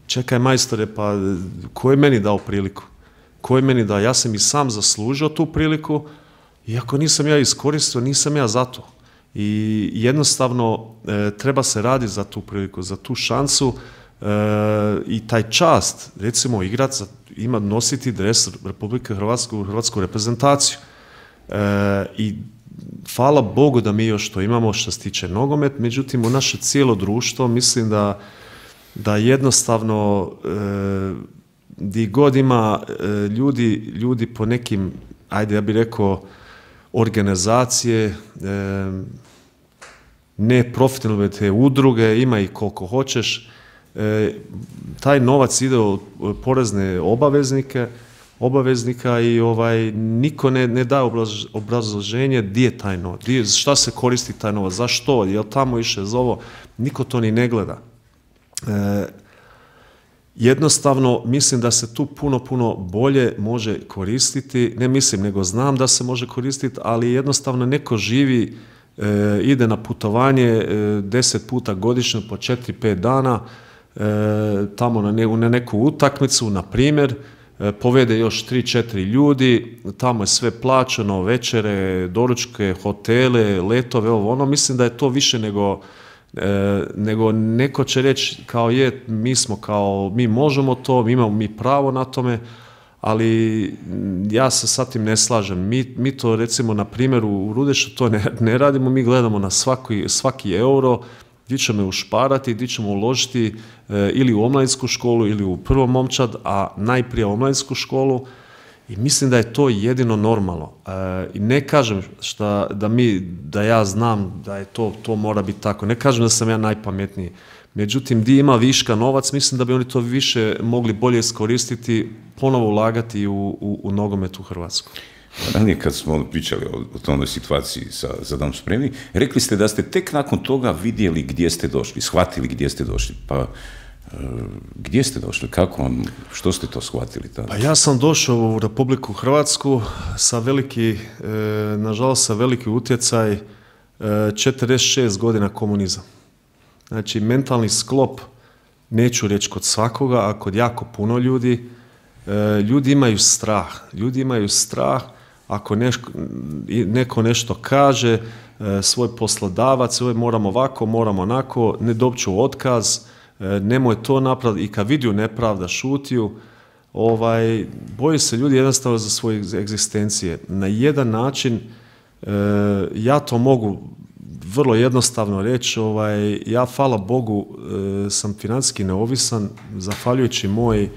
čekaj majstore, pa ko je meni dao priliku? Ko je meni dao? Ja sam i sam zaslužio tu priliku, iako nisam ja iskoristio, nisam ja za to. I jednostavno treba se raditi za tu priliku, za tu šansu. E, i taj čast, recimo igrač ima nositi dres Republike Hrvatske u hrvatsku reprezentaciju. E, I hvala Bogu da mi još to imamo što se tiče nogomet, međutim u naše cijelo društvo mislim da, da jednostavno e, di god ima e, ljudi, ljudi po nekim, ajde ja bih rekao, organizacije, e, ne profitne te udruge, ima i koliko hoćeš, E, taj novac ide od porezne obaveznike, obaveznika i ovaj, niko ne, ne daje obrazloženje gdje je taj novac, gdje, šta se koristi taj novac, zašto, je li tamo išle za ovo, niko to ni ne gleda. E, jednostavno, mislim da se tu puno, puno bolje može koristiti, ne mislim, nego znam da se može koristiti, ali jednostavno neko živi, e, ide na putovanje e, deset puta godišnje po četiri pet dana, E, tamo na, ne, na neku utakmicu, na primjer, e, povede još tri četiri ljudi, tamo je sve plaćeno, večere, doručke, hotele, letove, ovo ono, mislim da je to više nego, e, nego neko će reći kao je, mi smo kao, mi možemo to, mi imamo mi pravo na tome, ali ja se sa tim ne slažem. Mi, mi to recimo na primjeru u Rudešu to ne, ne radimo, mi gledamo na svaki, svaki euro, gdje ćemo ušparati, gdje ćemo uložiti e, ili u omladinsku školu ili u prvo momčad, a najprije omladinsku školu, I mislim da je to jedino normalno. E, I ne kažem šta, da, mi, da ja znam da je to, to mora biti tako. Ne kažem da sam ja najpametniji. Međutim, di ima viška novac, mislim da bi oni to više mogli bolje iskoristiti, ponovo ulagati u, u, u nogomet u Hrvatsku. Ranije kad smo pričali o, o toj situaciji sa Za dom spremni, rekli ste da ste tek nakon toga vidjeli gdje ste došli, shvatili gdje ste došli. Pa gdje ste došli? Kako vam, što ste to shvatili tada? Pa ja sam došao u Republiku Hrvatsku sa veliki, e, nažalost sa veliki utjecaj e, četrdeset šest godina komunizam. Znači, mentalni sklop, neću reći kod svakoga, a kod jako puno ljudi, e, ljudi imaju strah. Ljudi imaju strah ako neško, neko nešto kaže, e, svoj poslodavac, svoj moram ovako, moram onako, ne dobit ću otkaz, e, nemoj to napraviti, i kad vidiju nepravda, šutiju, ovaj, boje se ljudi jednostavno za svoje egzistencije. Na jedan način, e, ja to mogu vrlo jednostavno reći, ovaj, ja, hvala Bogu, e, sam financijski neovisan, zahvaljujući moji e,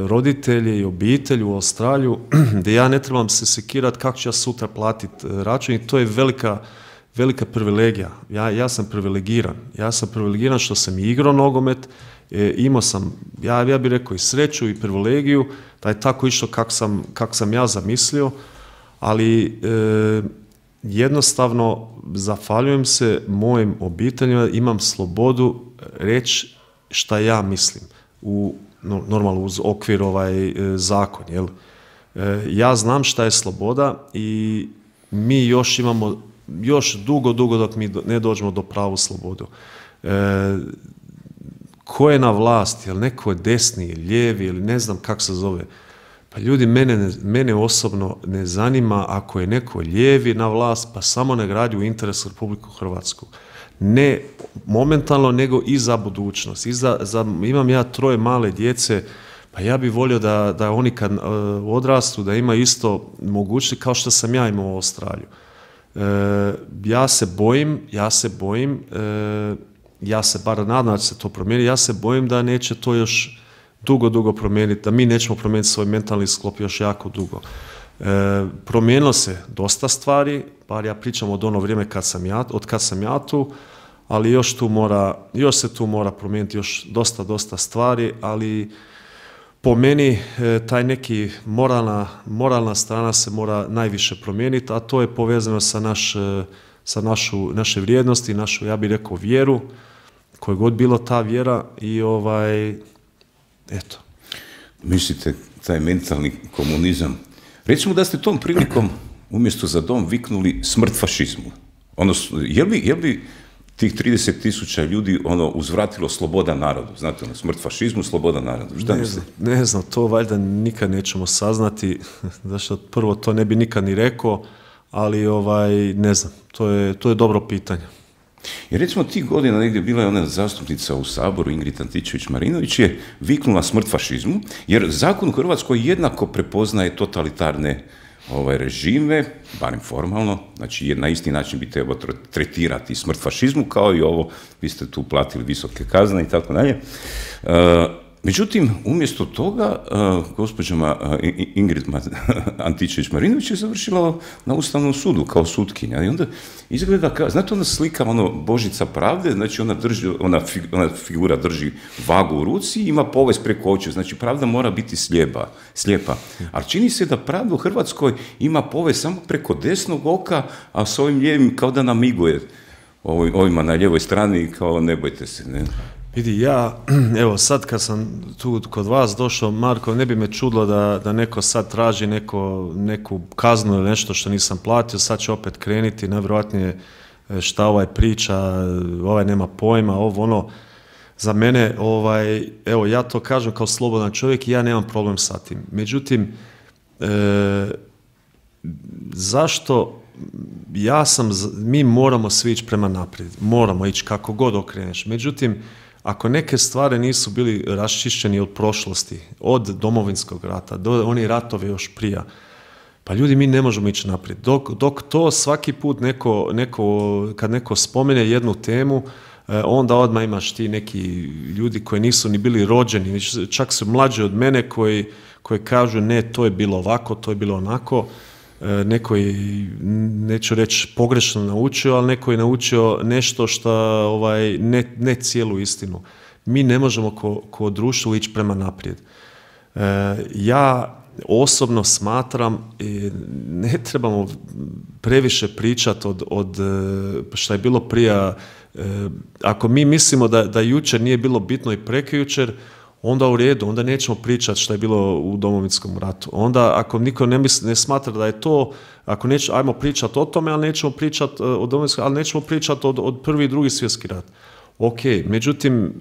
roditelji i obitelji u Australiju, gdje ja ne trebam se sekirati kako ću ja sutra platiti račun, i to je velika, velika privilegija. Ja, ja sam privilegiran. Ja sam privilegiran što sam igrao nogomet, e, imao sam, ja, ja bih rekao, i sreću i privilegiju, da je tako išlo kako sam, kako sam ja zamislio, ali e, jednostavno zahvaljujem se mojim obiteljima, imam slobodu reći šta ja mislim, u, normalno uz okvir ovaj zakon. Jel? E, ja znam šta je sloboda i mi još imamo, još dugo, dugo dok mi ne dođemo do pravu slobodu. E, ko je na vlasti, jel neko je desni, lijevi ili ne znam kako se zove. Pa ljudi, mene, mene osobno ne zanima ako je neko lijevi na vlast, pa samo ne gradi u interesu Republiku Hrvatsku. Ne momentalno, nego i za budućnost. I za, za, imam ja troje male djece, pa ja bih volio da, da oni kad uh, odrastu, da imaju isto mogućnosti kao što sam ja imao u Australiju. Uh, ja se bojim, ja se bojim, uh, ja se bar nadam da će se to promijeniti, ja se bojim da neće to još dugo, dugo promijeniti, da mi nećemo promijeniti svoj mentalni sklop još jako dugo. E, promijenilo se dosta stvari, bar ja pričam od ono vrijeme kad sam ja, od kad sam ja tu, ali još tu mora, još se tu mora promijeniti još dosta, dosta stvari, ali po meni e, taj neki moralna, moralna strana se mora najviše promijeniti, a to je povezano sa, naš, sa našu, naše vrijednosti, našu, ja bih rekao, vjeru, koja god bilo ta vjera, i ovaj, eto. Mislite, taj mentalni komunizam, recimo da ste tom prilikom umjesto Za dom viknuli smrt fašizmu. Ono, je li, je li tih trideset tisuća ljudi ono uzvratilo sloboda narodu? Znate, ono, smrt fašizmu, sloboda narodu. Šta ne, znam, ne znam, to valjda nikad nećemo saznati, zašto prvo to ne bi nikad ni rekao, ali ovaj, ne znam, to je, to je dobro pitanje. Jer recimo tih godina negdje bila je ona zastupnica u Saboru, Ingrid Antičević-Marinović, je viknula smrt fašizmu, jer zakon u Hrvatskoj jednako prepoznaje totalitarne ovaj, režime, barem formalno, znači na isti način bi trebalo tretirati smrt fašizmu, kao i ovo, vi ste tu platili visoke kazne i tako dalje. Međutim, umjesto toga, uh, gospođa uh, Ingrid Antičević-Marinović je završila na Ustavnom sudu kao sutkinja. I onda izgleda, kao, znate ona slika, ono, Božica pravde, znači ona, drži, ona, fig, ona figura drži vagu u ruci i ima povez preko očiju, znači pravda mora biti slijepa. slijepa. Ali čini se da pravda u Hrvatskoj ima povez samo preko desnog oka, a s ovim lijevim kao da namiguje ovima na lijevoj strani, kao ne bojte se, ne? Vidi, ja, evo sad kad sam tu kod vas došao, Marko, ne bi me čudilo da, da neko sad traži neko, neku kaznu ili nešto što nisam platio, sad će opet krenuti, najvjerojatnije šta ovaj priča, ovaj nema pojma, ovo ono, za mene, ovaj, evo ja to kažem kao slobodan čovjek i ja nemam problem sa tim. Međutim, e, zašto ja sam, mi moramo svi ići prema naprijed, moramo ići kako god okreneš, međutim, ako neke stvari nisu bili raščišćeni od prošlosti, od Domovinskog rata, do oni ratovi još prija, pa ljudi, mi ne možemo ići naprijed. Dok, dok to svaki put neko, neko, kad neko spomene jednu temu, onda odmah imaš ti neki ljudi koji nisu ni bili rođeni, čak su mlađi od mene, koji, koje kažu ne, to je bilo ovako, to je bilo onako. Neko je, neću reći pogrešno naučio, ali neko je naučio nešto što ovaj, ne, ne cijelu istinu. Mi ne možemo ko, ko društvo ići prema naprijed. E, ja osobno smatram, ne trebamo previše pričati od, od što je bilo prije. Ako mi mislimo da, da jučer nije bilo bitno i prekjučer, onda u redu, onda nećemo pričati što je bilo u Domovinskom ratu. Onda ako niko ne, misli, ne smatra da je to, ako neće, ajmo pričati o tome, ali nećemo pričati o Domovinskom, ali nećemo pričati od, od prvi i drugi svjetski rat. Ok, međutim,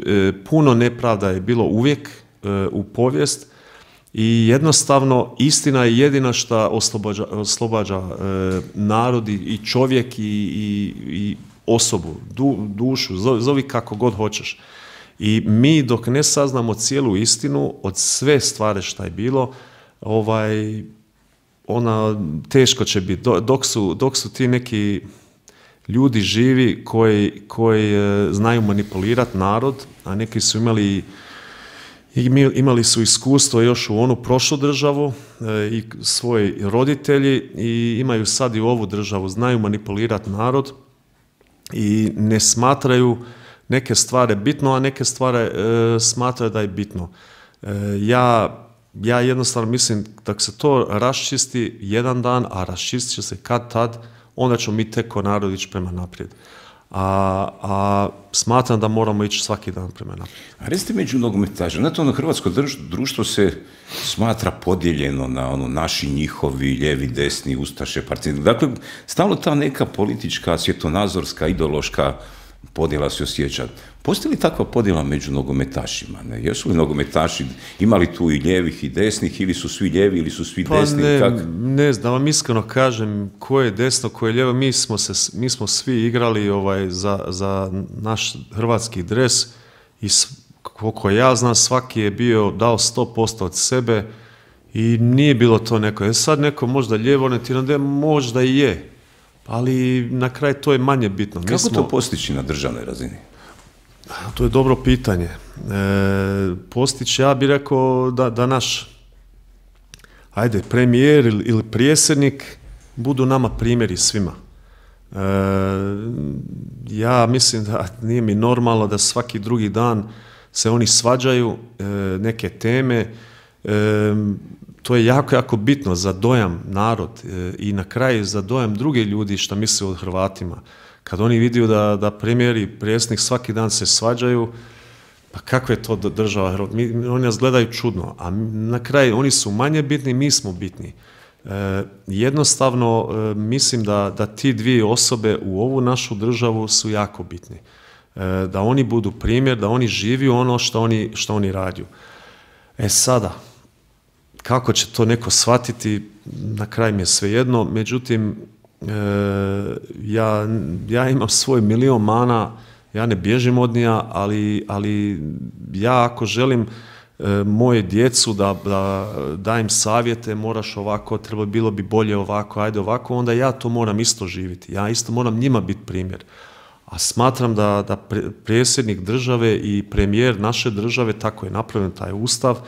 puno nepravda je bilo uvijek u povijest i jednostavno istina je jedina što oslobađa, oslobađa narod i čovjek i, i, i osobu, du, dušu, zovi kako god hoćeš. I mi dok ne saznamo cijelu istinu od sve stvari šta je bilo, ovaj, ona teško će biti. Dok su, dok su ti neki ljudi živi koji, koji znaju manipulirati narod, a neki su imali, imali su iskustvo još u onu prošlu državu i svoji roditelji i imaju sad i ovu državu, znaju manipulirati narod i ne smatraju neke stvari bitno, a neke stvari e, smatraju da je bitno. E, ja, ja jednostavno mislim da se to raščisti jedan dan, a raščistit će se kad tad, onda ćemo mi tek ko narod ići prema naprijed. A, a smatram da moramo ići svaki dan prema naprijed. A recite među nogometašima, znate, ono hrvatsko društvo se smatra podijeljeno na ono naši, njihovi, lijevi, desni, ustaše, partizani. Dakle, stalno ta neka politička, svjetonazorska, ideološka podjela se osjeća. Postoji li takva podjela među nogometašima? Ne? Jesu li nogometaši imali tu i lijevih i desnih, ili su svi lijevi, ili su svi pa desni? Ne, kak? ne znam, vam iskreno kažem ko je desno, ko je lijevo. Mi smo, se, mi smo svi igrali ovaj, za, za naš hrvatski dres i koliko ja znam, svaki je bio dao sto posto od sebe i nije bilo to neko. E sad neko možda lijevo orijentirano, možda i je. Ali na kraju to je manje bitno. Kako smo, to postići na državnoj razini? To je dobro pitanje. E, postići, ja bih rekao da, da naš ajde, premijer ili, ili predsjednik budu nama primjeri svima. E, ja mislim da nije mi normalno da svaki drugi dan se oni svađaju e, neke teme. E, To je jako, jako bitno za dojam narod e, i na kraju za dojam druge ljudi što misle o Hrvatima. Kad oni vidio da, da premijer i predsjednik svaki dan se svađaju, pa kakva je to država Hrvatska? Mi, oni nas gledaju čudno, a na kraju oni su manje bitni, mi smo bitni. E, jednostavno e, mislim da, da ti dvije osobe u ovu našu državu su jako bitni. E, da oni budu primjer, da oni živiju ono što oni, što oni rade. E sada, kako će to neko shvatiti, na kraju mi je svejedno, međutim, e, ja, ja imam svoj milion mana, ja ne bježim od nija, ali, ali ja ako želim e, moje djecu da, da dajem savjete, moraš ovako, treba bilo bi bolje ovako, ajde ovako, onda ja to moram isto živjeti, ja isto moram njima biti primjer. A smatram da, da predsjednik države i premijer naše države, tako je napravljen taj ustav,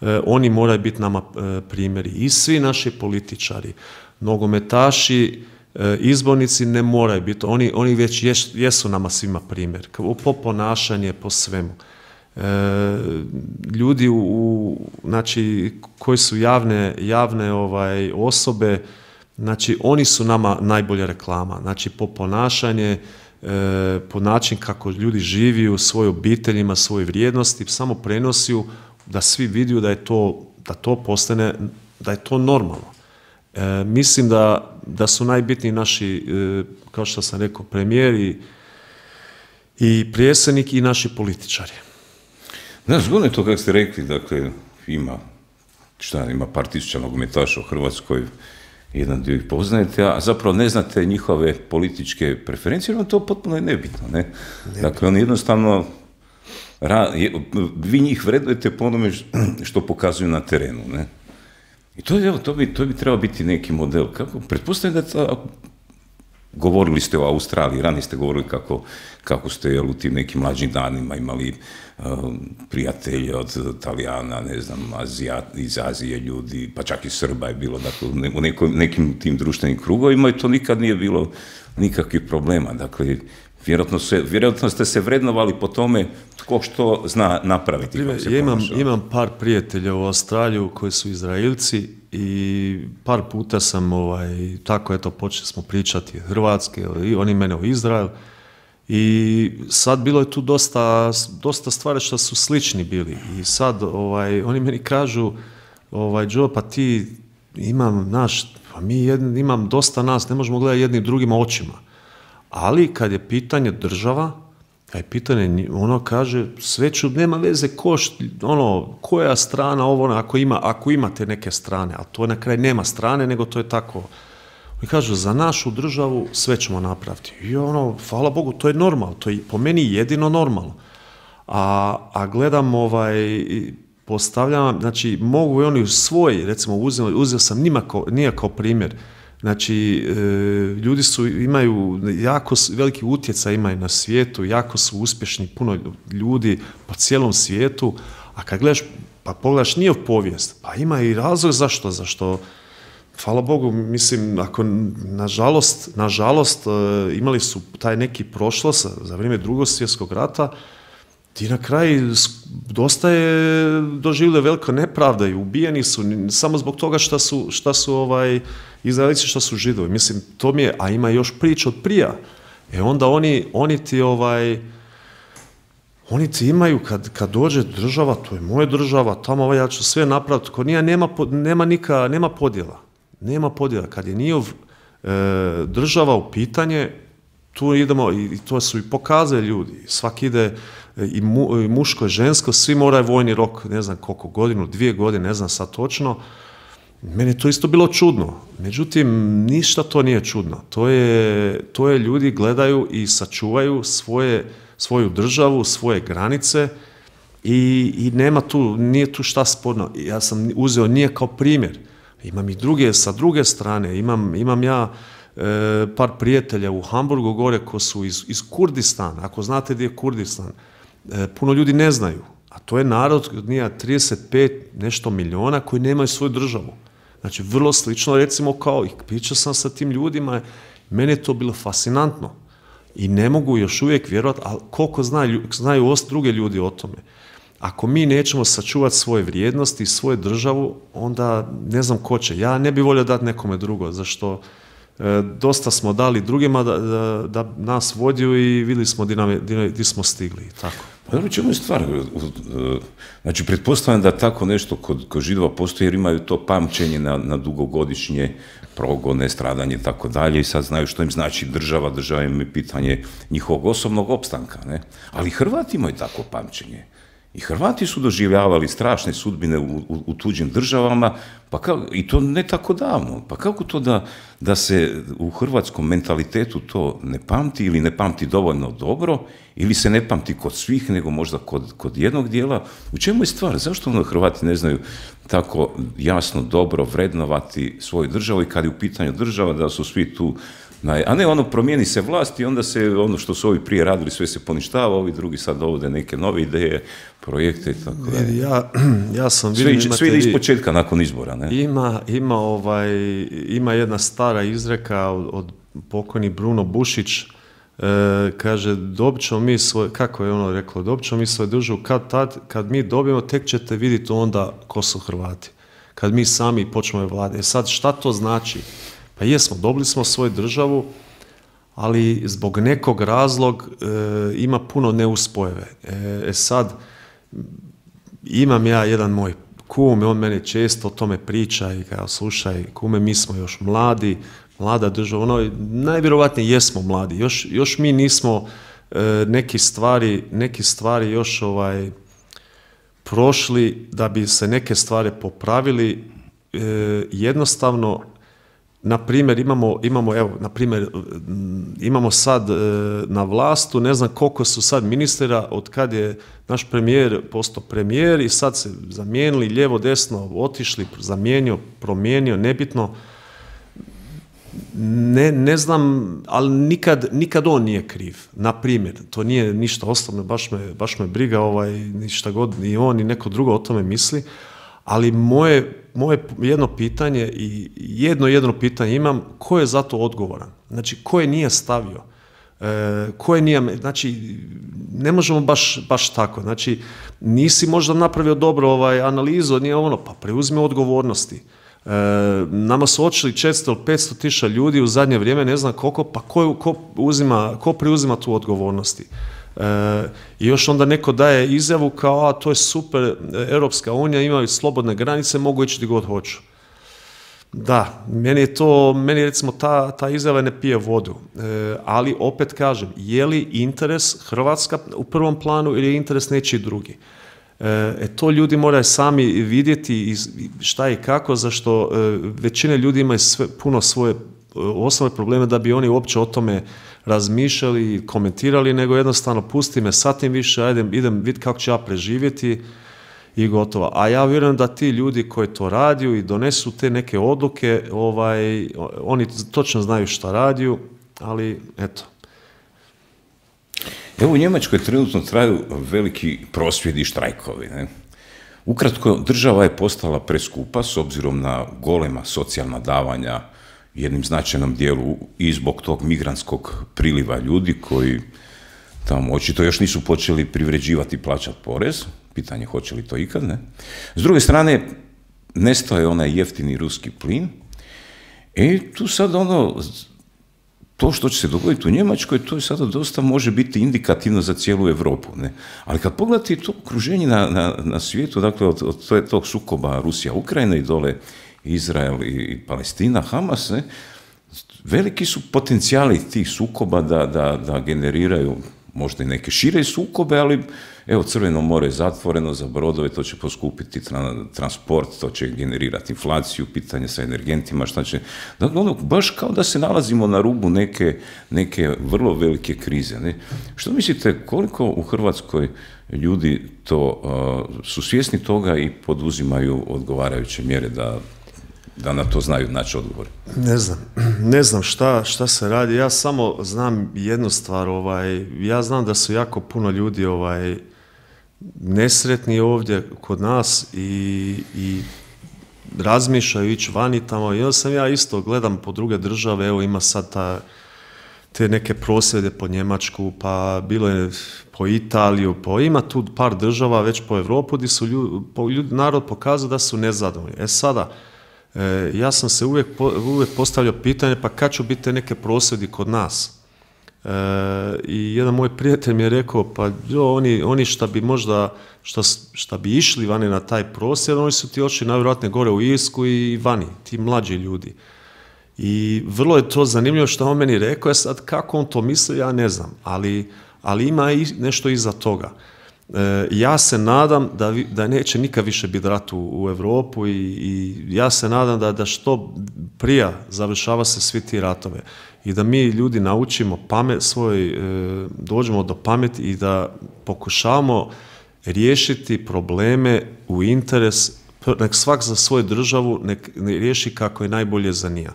E, oni moraju biti nama e, primjeri. I svi naši političari, nogometaši, e, izbornici ne moraju biti. Oni, oni već jes, jesu nama svima primjer. Po ponašanje, po svemu. E, ljudi u, u, znači, koji su javne, javne ovaj, osobe, znači, oni su nama najbolja reklama. Znači, po ponašanje, e, po način kako ljudi živi u svojoj obiteljima, svoje vrijednosti, samo prenosiju da svi vidio da je to, da to postane, da je to normalno. E, mislim da, da su najbitniji naši, e, kao što sam rekao, premijeri i predsjednik i naši političari. Znaš, zgodno je to kako ste rekli, dakle, ima, šta, ima par tisuća nogometaša u Hrvatskoj, jedan dio ih poznajete, a zapravo ne znate njihove političke preferencije, jer vam to potpuno je nebitno, ne? Nebitno. Dakle, oni jednostavno, Ra, je, vi njih vredujete po onome što pokazuju na terenu, ne? I to, evo, to, bi, to bi trebao biti neki model. Kako? Pretpostavljam da ta, govorili ste o Australiji, ranije ste govorili kako, kako ste jel, u tim nekim mlađim danima imali uh, prijatelje od Talijana, ne znam, Azija, iz Azije ljudi, pa čak i Srba je bilo, dakle, u neko, nekim tim društvenim krugovima i to nikad nije bilo nikakvih problema. Dakle, vjerojatno, se, vjerojatno ste se vrednovali po tome tko što zna napraviti. Ja imam, imam par prijatelja u Australiju koji su Izraelci i par puta sam ovaj, tako eto počeli smo pričati hrvatske i oni mene o Izrael i sad bilo je tu dosta, dosta stvari što su slični bili i sad ovaj, oni meni kažu ovaj, Joe, pa ti imam naš, pa mi jedn, imam dosta nas, ne možemo gledati jednim drugima očima, ali kad je pitanje država, kad je pitanje, ono kaže, sve ću, nema veze ko, ono, koja strana ovo, ono, ako, ima, ako imate neke strane, ali to na kraj nema strane, nego to je tako. I kažu, za našu državu sve ćemo napraviti. I ono, hvala Bogu, to je normalno, to je po meni jedino normalno. A, a gledam, ovaj, postavljam, znači, mogu i oni svoj, recimo, uzeo, uzeo sam njima kao, nije kao primjer, znači, e, ljudi su, imaju jako veliki utjecaj imaju na svijetu, jako su uspješni, puno ljudi po cijelom svijetu, a kad gledaš, pa pogledaš njihov povijest, pa ima i razlog zašto, zašto, hvala Bogu, mislim, ako, nažalost, nažalost, e, imali su taj neki prošlost za vrijeme Drugog svjetskog rata, ti na kraju dosta je doživjeli velika nepravda i ubijeni su samo zbog toga šta su, šta su ovaj, Izraelici, šta su Židovi. Mislim, to mi je, a ima još priča od prija. E onda oni, oni ti ovaj, oni ti imaju, kad, kad dođe država, to je moja država, tamo ovaj, ja ću sve napraviti, ko nije, nema, nema, nika, nema podjela. Nema podjela. Kad je njihov e, država u pitanje, tu idemo, i to su i pokazali ljudi, svaki ide, i, mu, i muško i žensko, svi moraju vojni rok, ne znam koliko godinu, dvije godine, ne znam sad točno. Meni je to isto bilo čudno, međutim, ništa to nije čudno. To je, to je ljudi gledaju i sačuvaju svoje, svoju državu, svoje granice i, i nema tu, nije tu šta sporno. Ja sam uzeo nije kao primjer, imam i druge, sa druge strane, imam, imam ja e, par prijatelja u Hamburgu gore ko su iz, iz Kurdistana, ako znate gdje je Kurdistan, e, puno ljudi ne znaju, a to je narod od nije trideset pet nešto miliona koji nemaju svoju državu. Znači, vrlo slično, recimo, kao, i pričao sam sa tim ljudima, meni je to bilo fascinantno i ne mogu još uvijek vjerovati, ali koliko znaju, znaju druge ljudi o tome. Ako mi nećemo sačuvati svoje vrijednosti i svoju državu, onda ne znam ko će. Ja ne bih volio dati nekome drugo, zašto e, dosta smo dali drugima da, da, da nas vodiju i vidjeli smo gdje smo stigli. Tako. Pa dobro, čemu je stvar? Znači, pretpostavljam da tako nešto kod, kod Židova postoji jer imaju to pamćenje na, na dugogodišnje progone, stradanje i tako dalje i sad znaju što im znači država, država im je pitanje njihovog osobnog opstanka, ne? Ali Hrvati imaju tako pamćenje. I Hrvati su doživljavali strašne sudbine u, u, u tuđim državama, pa kao, i to ne tako davno. Pa kako to da, da se u hrvatskom mentalitetu to ne pamti ili ne pamti dovoljno dobro, ili se ne pamti kod svih, nego možda kod, kod jednog dijela? U čemu je stvar? Zašto ono Hrvati ne znaju tako jasno, dobro vrednovati svoju državu i kad je u pitanju država da su svi tu, a ne ono promijeni se vlast i onda se ono što su ovi prije radili sve se poništava, ovi drugi sad dovode neke nove ideje, projekte i tako dalje. Ja, ja sam vidim, sve, sve ide iz početka nakon izbora, ne? Ima, ima, ovaj, ima jedna stara izreka od, od pokojni Bruno Bušić, e, kaže, dobit ćemo mi svoje, kako je ono reklo, dobit ćemo mi svoju državu, kad, tad, kad mi dobijemo, tek ćete vidjeti onda ko su Hrvati. Kad mi sami počnemo vlade. E sad, šta to znači? Pa jesmo, dobili smo svoju državu, ali zbog nekog razlog e, ima puno neuspojeve. E, e sad, imam ja jedan moj kum, on meni često o tome priča i kao, slušaj, kume, mi smo još mladi, mlada država, ono, najvjerovatnije jesmo mladi, još, još mi nismo e, neki stvari, neki stvari još ovaj, prošli da bi se neke stvari popravili, e, jednostavno. Na primjer, imamo, imamo, evo, na primjer, imamo sad e, na vlastu, ne znam koliko su sad ministra, od kad je naš premijer postao premijer i sad se zamijenili, lijevo, desno, otišli, zamijenio, promijenio, nebitno. ne, ne znam, ali nikad, nikad on nije kriv. Na primjer, to nije ništa osobno, baš me, baš me briga ovaj, ništa god, ni on, ni neko drugo o tome misli, ali moje, moje jedno pitanje i jedno jedno pitanje imam, ko je za to odgovoran? Znači, ko je nije stavio? E, ko je nije, znači, ne možemo baš, baš tako. Znači, nisi možda napravio dobro ovaj, analizu, nije ono, pa preuzmi odgovornosti. E, nama su očili četiristo ili petsto tisuća ljudi u zadnje vrijeme, ne znam koliko, pa ko, ko, uzima, ko preuzima tu odgovornosti? E, I još onda neko daje izjavu kao, a to je super, Europska unija, imaju slobodne granice, mogu ići gdje god hoću. Da, meni je to, meni recimo ta, ta izjava ne pije vodu, e, ali opet kažem, je li interes Hrvatska u prvom planu ili je interes nečiji drugi? E, to ljudi moraju sami vidjeti šta i kako, zašto e, većina ljudi ima sve, puno svoje osnovne probleme da bi oni uopće o tome razmišljali i komentirali, nego jednostavno pusti me satim više, ajde, idem vidjeti kako ću ja preživjeti i gotovo. A ja vjerujem da ti ljudi koji to radiju i donesu te neke odluke, ovaj, oni točno znaju šta radiju, ali eto. Evo u Njemačkoj trenutno traju veliki prosvjedi i štrajkovi. Ne? Ukratko, država je postala preskupa s obzirom na golema socijalna davanja jednim značajnom dijelu i zbog tog migrantskog priliva ljudi koji tamo očito još nisu počeli privređivati i plaćati porez. Pitanje hoće li to ikad, ne? S druge strane, nestao je onaj jeftini ruski plin i tu sad ono, to što će se dogoditi u Njemačkoj, to je sada dosta može biti indikativno za cijelu Europu, ne? Ali kad pogledate to okruženje na, na, na svijetu, dakle od, od tog sukoba Rusija-Ukrajina i dole Izrael i Palestina, Hamas, ne? Veliki su potencijali tih sukoba da, da, da generiraju možda i neke šire sukobe, ali evo, Crveno more je zatvoreno za brodove, to će poskupiti transport, to će generirati inflaciju, pitanje sa energentima, šta će... Dakle, ono, baš kao da se nalazimo na rubu neke, neke vrlo velike krize. Ne? Što mislite, koliko u Hrvatskoj ljudi to uh, su svjesni toga i poduzimaju odgovarajuće mjere da da na to znaju naći odgovor? Ne znam, ne znam šta, šta se radi, ja samo znam jednu stvar, ovaj, ja znam da su jako puno ljudi ovaj, nesretni ovdje kod nas i, i razmišljaju ići vani tamo, i onda sam ja isto gledam po druge države, evo ima sad ta, te neke prosvjede po Njemačku, pa bilo je po Italiju, pa ima tu par država već po Europu gdje su ljudi, po, ljudi, narod pokazao da su nezadovoljni. E sada, E, ja sam se uvijek, uvijek postavljao pitanje, pa kad će biti neke prosvjedi kod nas? E, I jedan moj prijatelj mi je rekao, pa jo, oni, oni šta bi možda, šta, šta bi išli vani na taj prosvjed, oni su ti ošli najvjerojatnije gore u Irsku i vani, ti mlađi ljudi. I vrlo je to zanimljivo što on meni rekao, sad kako on to misli, ja ne znam, ali, ali ima i nešto iza toga. E, ja se nadam da, vi, da neće nikad više biti rat u, u Europu i, i ja se nadam da, da što prije završava se svi ti ratove i da mi ljudi naučimo pamet svoj, e, dođemo do pameti i da pokušavamo riješiti probleme u interes, nek svak za svoju državu nek riješi kako je najbolje za njega.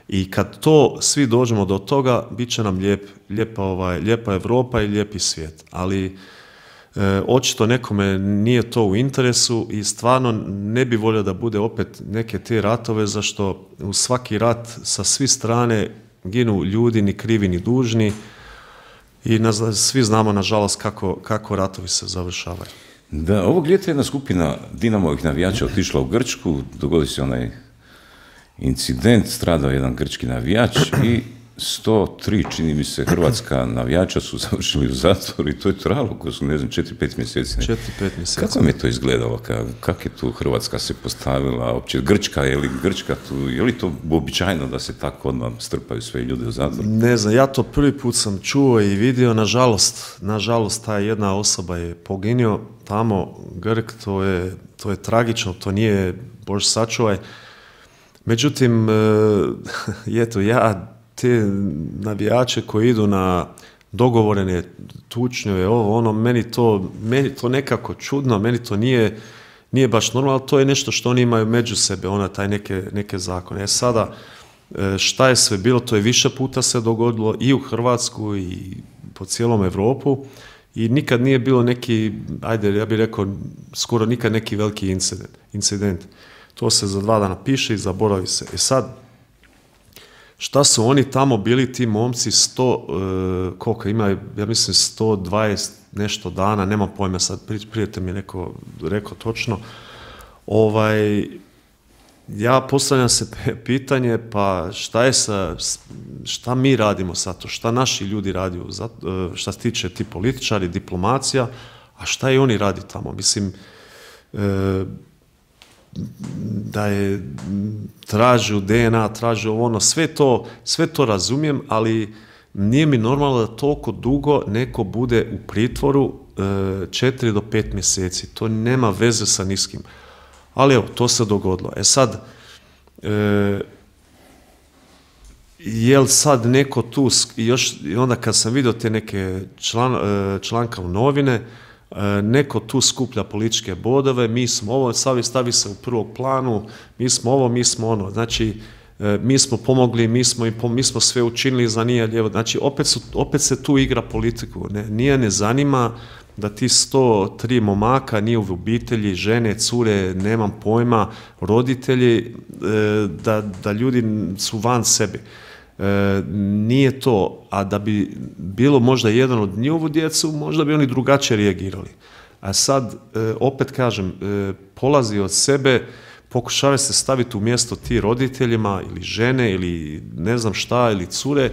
I kad to svi dođemo do toga, bit će nam lijep, lijepa, ovaj, lijepa Europa i lijepi svijet. Ali E, očito nekome nije to u interesu i stvarno ne bi volio da bude opet neke te ratove, zašto u svaki rat sa svih strane ginu ljudi ni krivi ni dužni i na, svi znamo nažalost kako, kako ratovi se završavaju. Da, ovog ljeta jedna skupina Dinamovih navijača otišla u Grčku, dogodi se onaj incident, stradao jedan grčki navijač i sto tri, čini mi se, hrvatska navijača su završili u zatvoru i to je trajalo, ko su, ne znam, četiri pet mjeseci. četiri pet mjeseci. Kako mi je to izgledalo? Kako je tu Hrvatska se postavila? Opće Grčka, je li Grčka tu, je li to uobičajeno da se tako odmah strpaju sve ljude u zatvor? Ne znam, ja to prvi put sam čuo i vidio, nažalost, nažalost, ta jedna osoba je poginio tamo, Grk, to je, to je tragično, to nije, Bože sačuvaj. Međutim, eto, ja te navijače koji idu na dogovorene tučnjeve, ovo, ono, meni to, meni to nekako čudno, meni to nije, nije baš normalno, ali to je nešto što oni imaju među sebe, ona taj neke, neke zakone. E sada, šta je sve bilo, to je više puta se dogodilo i u Hrvatsku i po cijelom Europu i nikad nije bilo neki, ajde ja bih rekao, skoro nikad neki veliki incident. incident. To se za dva dana piše i zaboravi se. E sad, šta su oni tamo bili, ti momci, sto, uh, koliko ima, ja mislim sto dvadeset nešto dana, nemam pojma sad, prijatelj mi je neko rekao točno, ovaj, ja postavljam se pitanje, pa šta je sa, šta mi radimo sad to, šta naši ljudi radi, šta se tiče ti političari, diplomacija, a šta i oni radi tamo, mislim, e, da je tražio D N A, tražio ono, sve to, sve to razumijem, ali nije mi normalno da toliko dugo neko bude u pritvoru četiri do pet mjeseci. To nema veze sa niskim. Ali evo, to se dogodilo. E sad, e, je li sad neko tu, još, i onda kad sam vidio te neke član, članka u novine, neko tu skuplja političke bodove, mi smo ovo, stavi, stavi se u prvog planu, mi smo ovo, mi smo ono, znači mi smo pomogli, mi smo, mi smo sve učinili za nije lijevo, znači opet, su, opet se tu igra politiku, ne, nije ne zanima da ti sto tri momaka nije u obitelji, žene, cure, nemam pojma, roditelji, da, da ljudi su van sebe. E, nije to, a da bi bilo možda jedan od njihovu djecu, možda bi oni drugačije reagirali. A sad, e, opet kažem, e, polazi od sebe, pokušava se staviti u mjesto ti roditeljima ili žene ili ne znam šta, ili cure,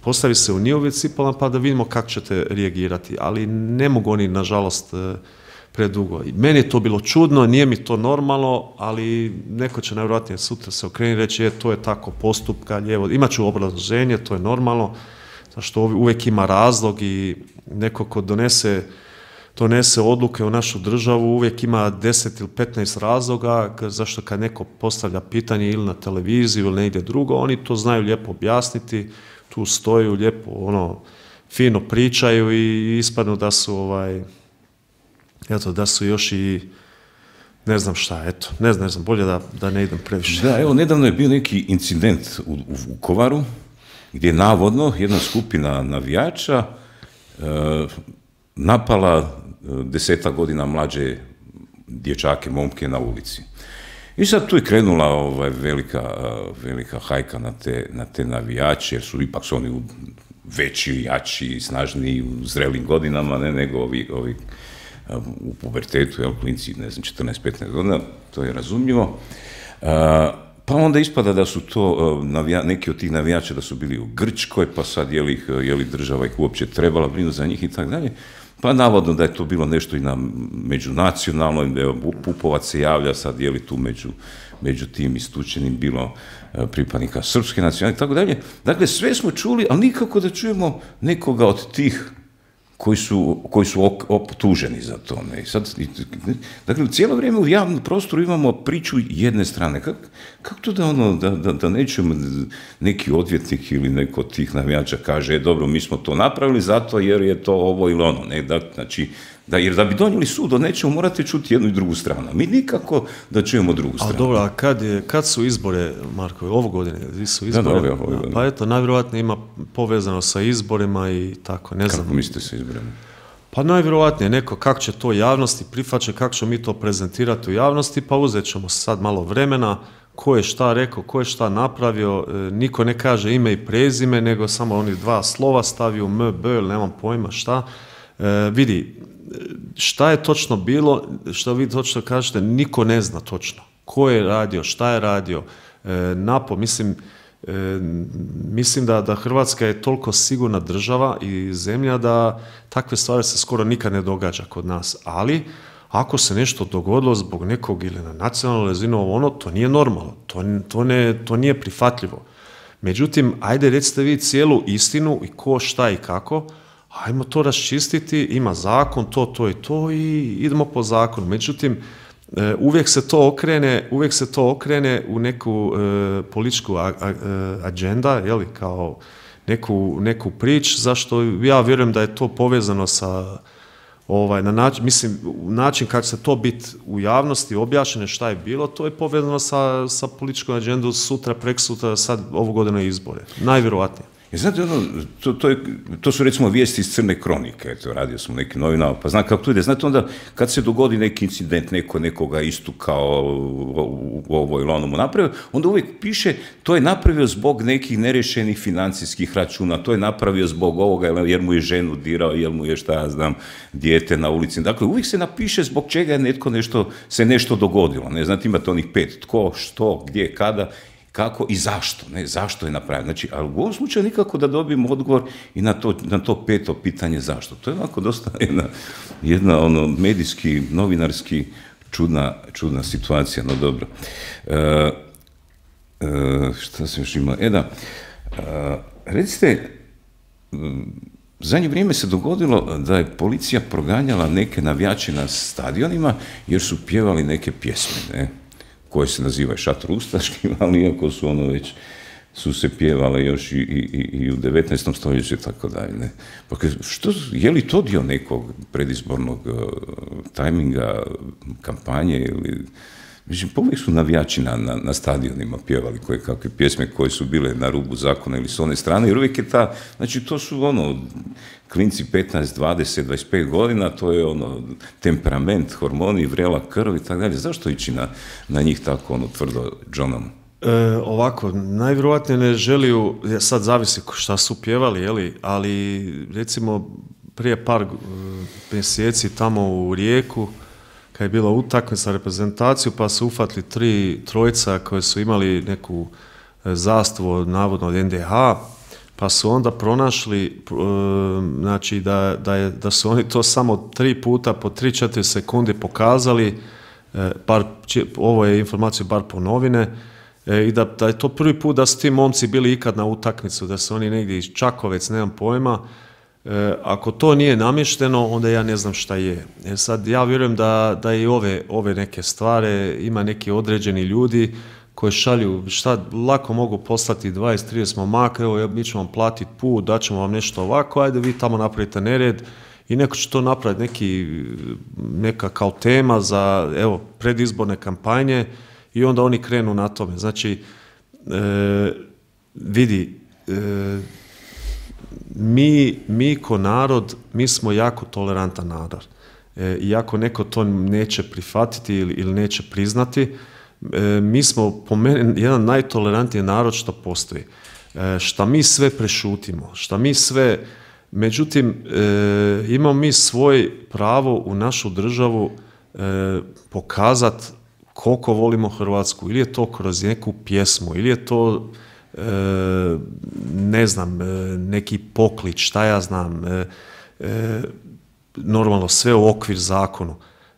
postavi se u njihove cipele pa da vidimo kako ćete reagirati, ali ne mogu oni, nažalost, e, predugo. I meni je to bilo čudno, nije mi to normalno, ali neko će najvjerojatnije sutra se okrenuti i reći, je, to je tako postupka, lijevo, imat ću obrazloženje, to je normalno, zašto uvijek ima razlog i neko ko donese, donese odluke u našu državu, uvijek ima deset ili petnaest razloga, zašto kad neko postavlja pitanje ili na televiziju ili negdje drugo, oni to znaju lijepo objasniti, tu stoju lijepo, ono, fino pričaju i ispadnu da su, ovaj, eto, da su još i ne znam šta, eto, ne znam, ne znam, bolje da, da ne idem previše. Da, evo, nedavno je bio neki incident u, u Vukovaru, gdje je navodno jedna skupina navijača e, napala deseta godina mlađe dječake, momke na ulici. I sad tu je krenula ovaj, velika, velika hajka na te, na te navijače, jer su ipak su oni u veći, jači, snažniji, u zrelim godinama, ne, nego ovi, ovi u pubertetu, jel, klinci, ne znam, četrnaest petnaest godina, to je razumljivo. Pa onda ispada da su to navija, neki od tih navijača da su bili u Grčkoj, pa sad je li, ih, je li država ih uopće trebala brinuti za njih i tako dalje. Pa navodno da je to bilo nešto i na međunacionalnoj, evo, Pupovac se javlja sad, je li tu među, među tim istučenim bilo pripadnika srpske nacionalne i tako dalje. Dakle, sve smo čuli, ali nikako da čujemo nekoga od tih koji su, koji su optuženi za to. Ne? I sad, dakle, cijelo vrijeme u javnom prostoru imamo priču jedne strane. Kako kak to da, ono, da, da, da nećemo neki odvjetnik ili neko od tih navijača kaže, e, dobro, mi smo to napravili zato jer je to ovo ili ono. Ne? Da, znači, da, jer da bi donijeli sud, nećemo morati čuti jednu i drugu stranu. Mi nikako da čujemo drugu stranu. A dobro, a kad, je, kad su izbore, Marko, ovo godine? Su izbore? Da, da, ovo godine. Pa eto, najvjerojatnije ima povezano sa izborima i tako, ne znam. Kako mislite sa izborima? Pa najvjerojatnije neko kako će to javnosti prihvaćati, kako ćemo mi to prezentirati u javnosti, pa uzet ćemo sad malo vremena, ko je šta rekao, ko je šta napravio, e, niko ne kaže ime i prezime, nego samo oni dva slova stavio M, B, ili nemam pojma šta. E, vidi, šta je točno bilo, što vi točno kažete, niko ne zna točno. Ko je radio, šta je radio, e, napo, mislim, e, mislim da, da Hrvatska je toliko sigurna država i zemlja da takve stvari se skoro nikad ne događa kod nas, ali ako se nešto dogodilo zbog nekog ili na nacionalnoj razini, ono, to nije normalno, to, to, ne, to nije prihvatljivo. Međutim, ajde recite vi cijelu istinu i ko, šta i kako, ajmo to raščistiti, ima zakon, to, to i to i idemo po zakonu. Međutim, uvijek se to okrene, uvijek se to okrene u neku e, političku a, a, agenda, jeli, kao neku, neku prič, zašto ja vjerujem da je to povezano sa ovaj, na način, mislim, način kako se to biti u javnosti objašnjeno šta je bilo, to je povezano sa, sa političkom agendom sutra, preksutra, sad ovu godinu izbore. Najvjerojatnije. I znate, ono, to, to, je, to su recimo vijesti iz Crne kronike, eto, radio sam u nekim novinama, pa znam kako to ide. Znate, onda kad se dogodi neki incident, neko nekoga istukao u ovo ili onomu napravio, onda uvijek piše to je napravio zbog nekih nerješenih financijskih računa, to je napravio zbog ovoga jer mu je ženu dirao, jer mu je, šta ja znam, dijete na ulici. Dakle, uvijek se napiše zbog čega je netko nešto, se nešto dogodilo. Ne, znate, imate onih pet, tko, što, gdje, kada, kako i zašto, ne, zašto je napravljeno. Znači, ali u ovom slučaju nikako da dobijemo odgovor i na to, na to peto pitanje zašto. To je ovako dosta jedna, jedna ono, medijski, novinarski čudna, čudna situacija, no dobro. E, e, šta se još ima? E da, e, recite, u zadnje vrijeme se dogodilo da je policija proganjala neke navijače na stadionima jer su pjevali neke pjesme, ne? Koje se nazivaju šator ustaškim, ali iako su ono već, su se pjevale još i, i, i u devetnaestom stoljeću i tako dalje. Ne? Pa što, je li to dio nekog predizbornog uh, tajminga, kampanje ili... Mislim, povijek su navijači na, na, na stadionima pjevali koje kakve pjesme koje su bile na rubu zakona ili s one strane, jer uvijek je ta, znači to su ono, klinci petnaest, dvadeset, dvadeset pet godina, to je ono, temperament, hormoni, vrela krv i tako dalje. Zašto ići na, na njih tako ono tvrdo džonom? E, ovako, najvjerojatnije ne želiju, sad zavisi šta su pjevali, jeli, ali recimo prije par mjeseci tamo u Rijeku, kad je bila utakmica za reprezentaciju, pa su ufatili tri trojica koje su imali neku zastavu, navodno od en de ha, pa su onda pronašli, znači da, da, je, da su oni to samo tri puta po tri četiri sekunde pokazali, bar, ovo je informacija bar po novine, i da, da je to prvi put da su ti momci bili ikad na utakmicu, da su oni negdje iz Čakovec, nemam pojma. E, ako to nije namješteno, onda ja ne znam šta je. E sad, ja vjerujem da, da i ove, ove neke stvari ima neki određeni ljudi koji šalju, šta lako mogu poslati dvadeset trideset momaka, evo mi ćemo vam platiti put, daćemo vam nešto ovako, ajde vi tamo napravite nered i neko će to napraviti, neki, neka kao tema za evo, predizborne kampanje i onda oni krenu na tome. Znači, e, vidi, e, Mi, mi ko narod, mi smo jako tolerantan narod. E, I ako neko to neće prihvatiti ili, ili neće priznati, e, mi smo po meni jedan najtolerantniji narod što postoji. E, šta mi sve prešutimo, šta mi sve... Međutim, e, imamo mi svoj pravo u našu državu e, pokazati koliko volimo Hrvatsku. Ili je to kroz neku pjesmu, ili je to... E, ne znam, e, neki poklič, šta ja znam, e, e, normalno sve u okvir zakonu,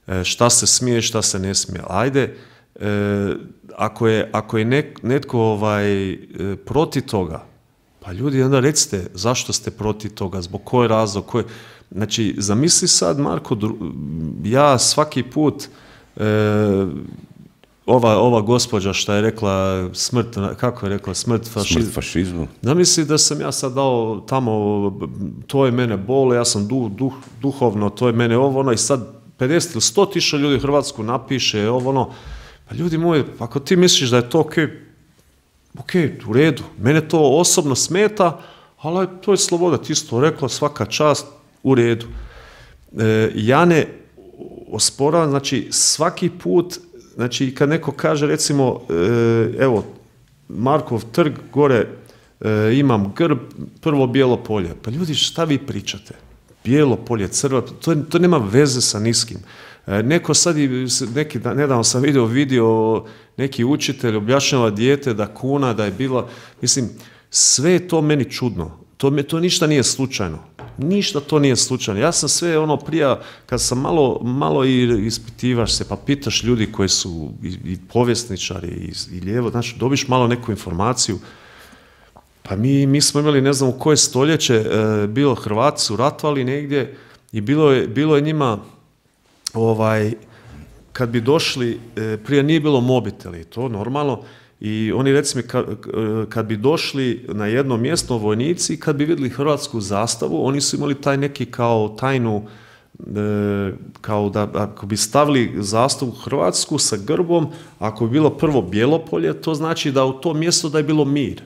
e, šta se smije, šta se ne smije. Ajde, e, ako je, ako je nek, netko ovaj, e, protiv toga, pa ljudi onda recite zašto ste protiv toga, zbog koje razlog, koje... Znači, zamisli sad, Marko, ja svaki put... E, Ova, ova gospođa što je rekla smrt, kako je rekla, smrt fašizmu. Smrt fašizmu. Da misli da sam ja sad dao tamo, to je mene bole, ja sam duh, duh, duhovno, to je mene ovo, ono, i sad pedeset ili sto tisuća ljudi u Hrvatsku napiše ovo, ono, pa ljudi moji, ako ti misliš da je to ok, ok, u redu, mene to osobno smeta, ali to je sloboda, ti si to rekla, svaka čast, u redu. E, ja ne osporavam, znači svaki put. Znači, kad neko kaže, recimo, evo, Markov trg, gore imam grb, prvo bijelo polje. Pa ljudi, šta vi pričate? Bijelo polje, crva, to, to nema veze sa niskim. Neko sad, neki, nedavno sam vidio video, neki učitelj objašnjava dijete da kuna, da je bila, mislim, sve je to meni čudno. To, to ništa nije slučajno. Ništa to nije slučajno. Ja sam sve ono prije, kad sam malo, malo i ispitivaš se, pa pitaš ljudi koji su i, i povjesničari i, i lijevo, znači dobiš malo neku informaciju. Pa mi, mi smo imali, ne znam u koje stoljeće, e, bilo Hrvati su ratovali negdje i bilo je, bilo je njima, ovaj, kad bi došli, e, prije nije bilo mobiteli, to normalno, i oni recimo kad, kad bi došli na jedno mjesto vojnici, kad bi vidjeli hrvatsku zastavu, oni su imali taj neki kao tajnu kao da ako bi stavili zastavu Hrvatsku sa grbom, ako bi bilo prvo bijelo polje, to znači da u to mjesto da je bilo mir.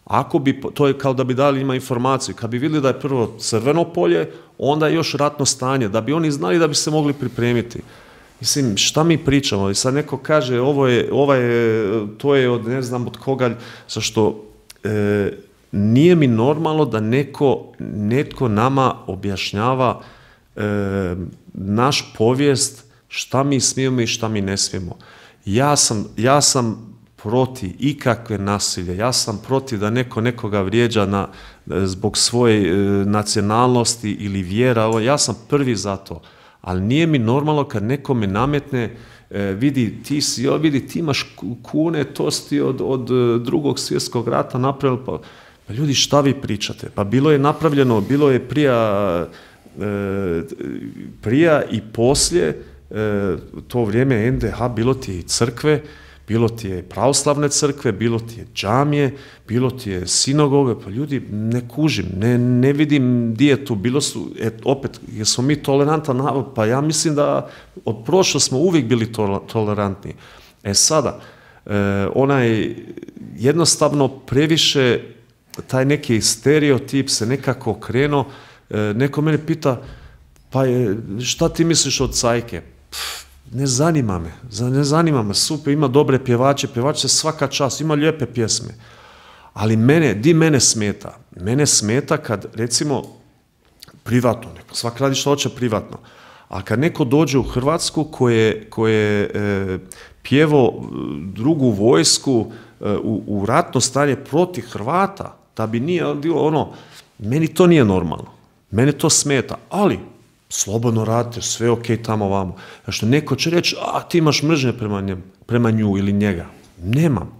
Ako bi, to je kao da bi dali ima informaciju, kad bi vidjeli da je prvo crveno polje, onda je još ratno stanje, da bi oni znali da bi se mogli pripremiti. Mislim, šta mi pričamo? I sad neko kaže, ovo je, ovo je, to je od ne znam od koga, zašto e, nije mi normalno da neko, netko nama objašnjava e, naš povijest, šta mi smijemo i šta mi ne smijemo. Ja sam, ja sam protiv ikakve nasilje, ja sam protiv da neko nekoga vrijeđa na, zbog svoje e, nacionalnosti ili vjera, ja sam prvi za to. Ali nije mi normalno kad neko me nametne, e, vidi, ti si, jo, vidi, ti imaš kune, to si od, od drugog svjetskog rata napravili, pa, pa ljudi, šta vi pričate? Pa bilo je napravljeno, bilo je prija, e, prija i poslije, e, to vrijeme en de ha, bilo ti je crkve, bilo ti je pravoslavne crkve, bilo ti je džamije, bilo ti je sinagoge, pa ljudi, ne kužim, ne, ne vidim di je tu, bilo su, et, opet, jesmo mi tolerantan narod, pa ja mislim da od prošlo smo uvijek bili to, tolerantni. E sada, e, onaj, jednostavno previše, taj neki stereotip se nekako okrenuo, e, neko mene pita, pa je, šta ti misliš od cajke? Pff, ne zanima me, ne zanima me, super, ima dobre pjevače, pjevače svaka čast, ima lijepe pjesme, ali mene, di mene smeta? Mene smeta kad, recimo, privatno, neko, svak radi što hoće privatno, a kad neko dođe u Hrvatsku koje, koje e, pjevo drugu vojsku e, u, u ratno stanje protiv Hrvata, da bi nije bilo ono, meni to nije normalno, mene to smeta, ali slobodno radite, sve ok tamo vamo. Što neko će reći, a ti imaš mržnje prema, njem, prema nju ili njega. Nemam.